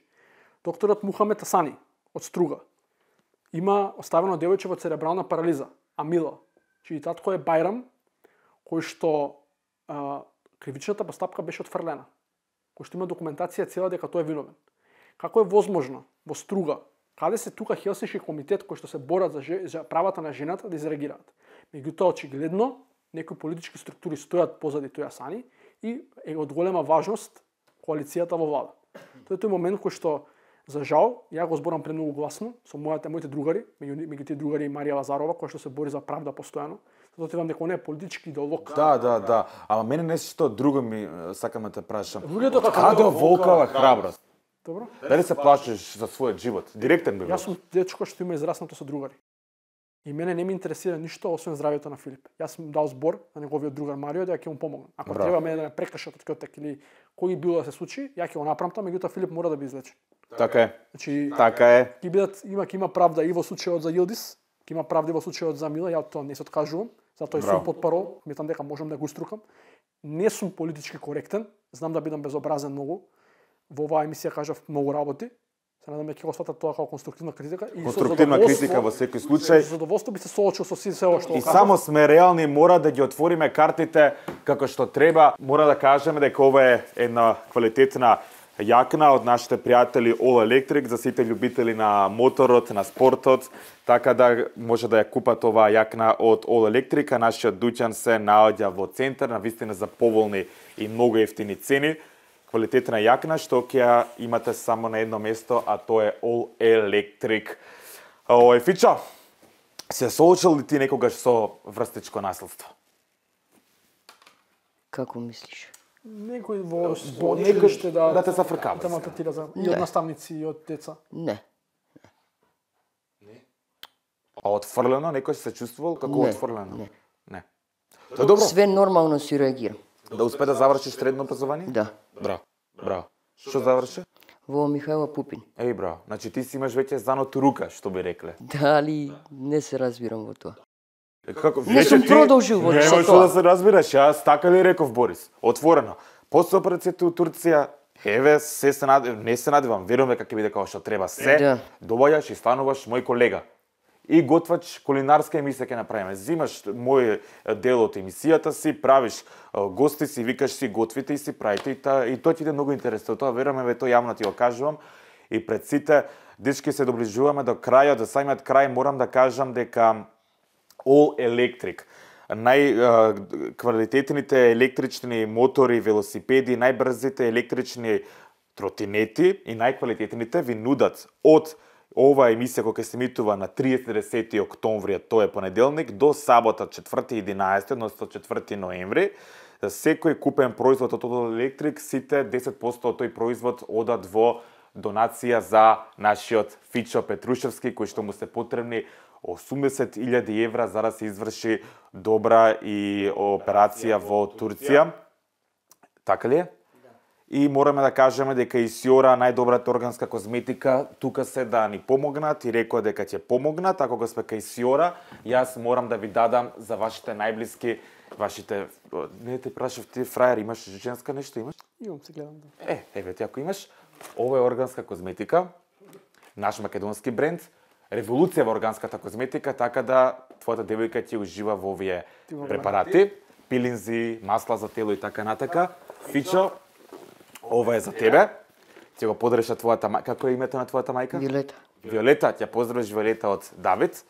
Докторот Мухамед Асани од Струга има оставено девојче во церебрална парализа, Амила, чиј татко е Бајрам, кој што кривичната постапка беше отфрлена, кој што има документација цела дека тој е виновен. Како е возможно во Струга, каде се тука Хелсиншки комитет кој што се борат за правата на жената да изреагираат? Меѓутоа очигледно некои политички структури стојат позади тој Асани и е од голема важност коалицијата во влада. Тоа е тој момент кој што за жал, ја го зборам премногу гласно со моите другари, меѓу тие другари и Марија Лазарова, која што се бори за правда постојано. Затоа ти вам дека он е политички идеолог. Да. Ама мене нешто друго ми сакам да те прашам. Луѓето Каде волкава храброст? Добро? Дали се плашиш за својот живот? Директен би бил. Јас сум дечко што има израснато со другари. И мене не ми интересира ништо освен здравјето на Филип. Јас сум дал збор на неговиот другар Марио дека ќе му помогнам. Ако треба мене да ме прекршат од кјотек или кој било да се случи, ја ќе го направам тоа, меѓутоа Филип мора да би излечен. Така е. Значи, така е. Ќе има правда и во случајот за Јилдис, ќе има правда и во случајот за Мила, ја тоа не се откажувам, затоа и сум потпарол, мислам дека можам да го уструкам. Не сум политички коректен, знам да бидам безобразен многу. Во оваа емисија кажав многу работи. Се надам дека ќе го сватат тоа како конструктивна критика и Конструктивна критика во секој случај. Со задоволство би се соочил со се ова што И само сме реални, мора да ги отвориме картите како што треба. Мора да кажеме дека ова е една квалитетна јакна од нашите пријатели All Electric за сите љубители на моторот, на спортот, така да може да ја купат оваа јакна од All Electric, а нашиот дуќан се наоѓа во центар, на вистина за поволни и многу ефтини цени. Квалитетна јакна што ќе ја имате само на едно место, а тоа е All Electric. Фичо, се соочил ли ти некогаш со врстичко наследство? Како мислиш? некој во училиште да те зафркава. Да малтретира за и од наставници и од деца. Не. А отфрлено некој се чувствувал како Не, отфрлено? не. Тоа добро. Све нормално си реагирам. Да успе да завршиш средно образование? Да. Браво. Што заврши? Во Михајла Пупин. Еј, браво. Значи ти си имаш веќе заното рука, што би рекле. Дали не се разбирам во тоа. Како Не сум продолжил во тоа. со Нема што да се разбираш, јас така ли реков Борис? Отворено. После операцијата у Турција, еве, не се надевам, верувам дека ќе биде како што треба се. Да. Доваѓаш и стануваш мој колега. И готвач кулинарска емисија ќе направиме. Зимаш мој дел од емисијата си, правиш гости си, викаш си, готвите и си правите и тоа ќе иде многу интересно. Тоа верувам, еве тоа јавно ти го кажувам и пред сите дечки се доближуваме до крајот, до самиот крај морам да кажам дека All Electric, најквалитетните електрични мотори, велосипеди, најбрзите електрични тротинети и најквалитетните ви нудат од оваа емисија која се емитува на 30 октомври, тоа е понеделник, до сабота 4.11, односно 4 ноември, секој купен производ од All Electric, сите 10% од тој производ одат во донација за нашиот Фичо Петрушевски, кој што му се потребни 80.000 евра за да се изврши добра и операција во Турција. Така ли е? И мораме да кажеме дека и Сиора, најдобрата органска козметика, тука се да ни помогнат и рекоа дека ќе помогнат. Ако го сме кај Сиора, јас морам да ви дадам за вашите најблиски, вашите... Не те прашав ти, фрајер, имаш женска нешто, имаш? Имам, се гледам. Да. Еве ти ако имаш, ова е органска козметика, наш македонски бренд, револуција во органската козметика, така да твојата девојка ќе ужива во овие препарати, пилинзи, масла за тело и така натака. Фичо, ова е за тебе. Ќе го подреша твојата мајка. Како е името на твојата мајка? Виолета. Виолета, ќе поздравиш Виолета од Давид.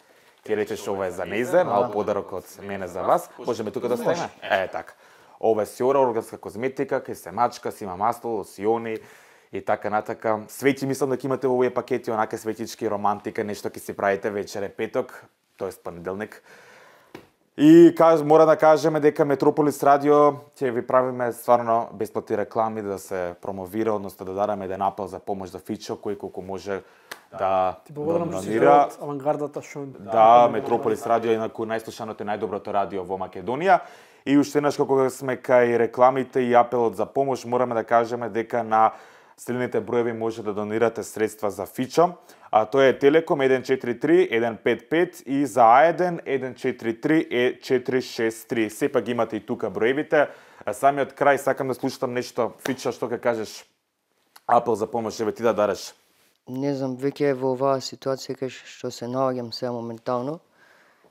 Ќе речеш ова е за нејзе, мал подарок од мене за вас. Можеме тука да стоиме? Така. Ова е Сиора органска козметика, кај се мачка, си има масло, лосиони и така натака. Свеќи мислам дека имате во овие пакети, онака светички, романтика, нешто ќе си правите вечер е петок, тоест понеделник. И мора да кажеме дека Метрополис Радио ќе ви правиме стварно бесплатни реклами да се промовира, односно да дадеме еден апел за помош за Фичо, кој колку може да донира. Авангардата што... Да, Метрополис Радио е најслушаното и најдоброто радио во Македонија. И уште еднаш кога сме кај рекламите и апелот за помош, мораме да кажеме дека на следните броеви може да донирате средства за Фичо. А тоа е Телеком 143 155 и за А1 143 463. Сепак имате и тука броевите. А самиот крај сакам да слушам нешто. Фичо, што ќе кажеш? Апел за помош, еве ти да дареш. Не знам, веќе во оваа ситуација кај што се наоѓам сега моментално,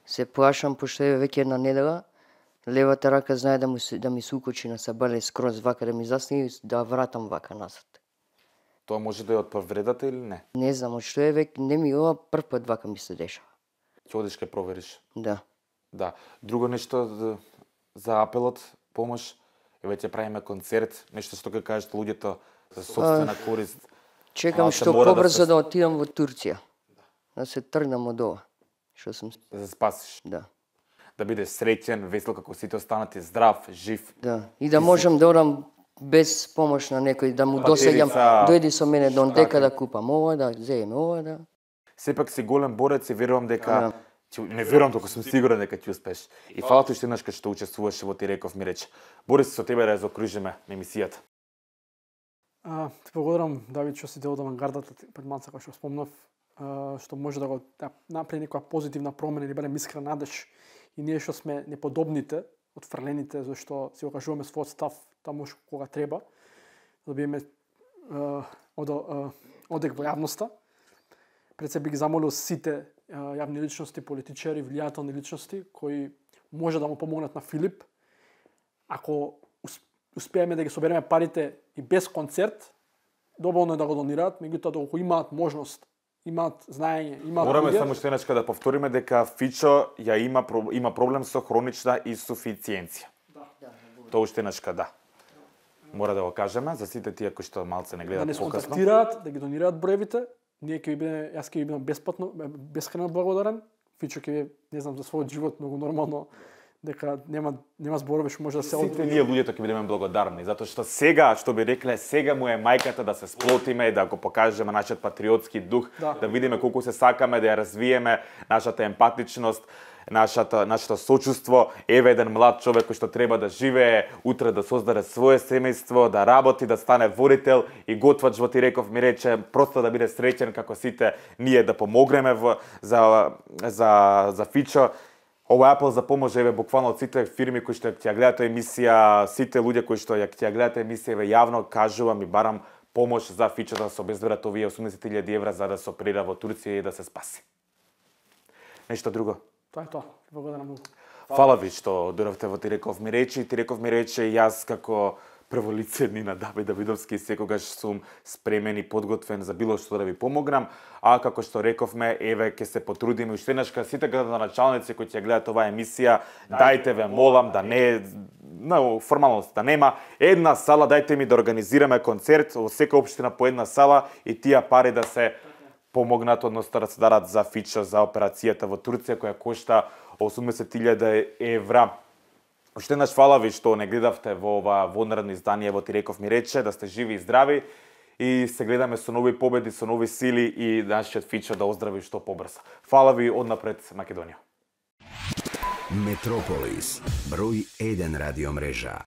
се плашам, пошто е веќе една недела, левата рака знае да ми се укочи на сабале скроз вака да ми засне и да вратам вака назад. Тоа може да е од повредата или не? Не знам, од што е веќе, не ми ова прв пат вака ми се дешава. Ќе одиш ке провериш. Да. Да. Друго нешто за апелот, помош, еве ќе правиме концерт, нешто што ќе кажат луѓето за сопствена корист. Чекам што побрзо да отидам во Турција. Да се тргнам од ова. Што сум... Да се спасиш. Да. Да бидеш среќен, весел како сите останати, здрав, жив. Да. И да можам да одам без помош на некој, да му досеѓам, дојди со мене до дека да купам ова, да земеме ова, да. Сепак си голем борец и верувам дека не верувам, току сум сигурен дека ќе успеш. И фала ти уште еднаш кога што учествуваше во Ти реков ми рече. Борис, со тебе да ја заокружиме на емисијата. Ти благодарам, Давид, што си дел од авангардата пред малце, како што спомнав, што може да го направи некоја позитивна промена или барем искрен надеж и ние што сме неподобните, отфрлените, зашто си го кажуваме својот став таму кога треба, да биеме одек во јавноста. Пред се би ги замолил сите јавни личности, политичари, влијателни личности кои може да му помогнат на Филип. Ако успееме да ги собереме парите и без концерт, доволно е да го донираат, меѓутоа доколку имаат можност, имаат знаење, имаат Мораме само што еднашка да повториме дека Фичо ја има проблем со хронична инсуфициенција. Тоа уште еднашка да. Мора да го кажеме за сите тие кои што малце не гледаат да не покасно. контактираат, да ги донираат броевите. Ние ќе биде, јас ќе бидам бесплатно, бескрајно благодарен. Фичо ќе не знам за својот живот многу нормално дека нема зборови што може да се Сите ние луѓето ќе бидеме благодарни затоа што сега, што би рекле, сега му е мајката да се сплотиме и да го покажеме нашиот патриотски дух, да видиме колку се сакаме да ја развиеме нашата емпатичност, нашето сочувство. Еве еден млад човек кој што треба да живее, утре да создаде свое семејство, да работи, да стане водител и готвач во Тиреков ми рече, просто да биде среќен како сите ние да помогнеме за Фичо. Ова апел за помош еве буквално од сите фирми кои што ќе ја гледаат емисија, сите луѓе кои што ќе ја гледаат емисија, еве јавно кажувам и барам помош за Фичо да се обезберат овие 80.000 евра за да се оперира во Турција и да се спаси. Нешто друго? Тоа е тоа. Благодарам многу. Фала ви што дојдовте во Тиреков ми рече. Тиреков ми рече јас како прво лице Нина Давид Давидовски секогаш сум спремен и подготвен за било што да ви помогнам, а како што рековме, еве ќе се потрудиме уште еднашка сите градоначалници кои ќе гледаат оваа емисија, дајте ве молам да не формалност да нема една сала, дајте ми да организираме концерт во секоја општина по една сала и тие пари да се помогнат, односно да се дарат за Фичо, за операцијата во Турција која кошта 80.000 евра. Уште еднаш фала ви што не гледавте во ова вонредно издание во Тиреков ми рече, да сте живи и здрави и се гледаме со нови победи, со нови сили и нашиот Фичо да оздрави што побрзо. Фала ви однапред Македонија. Метрополис, број 1 радиомрежа.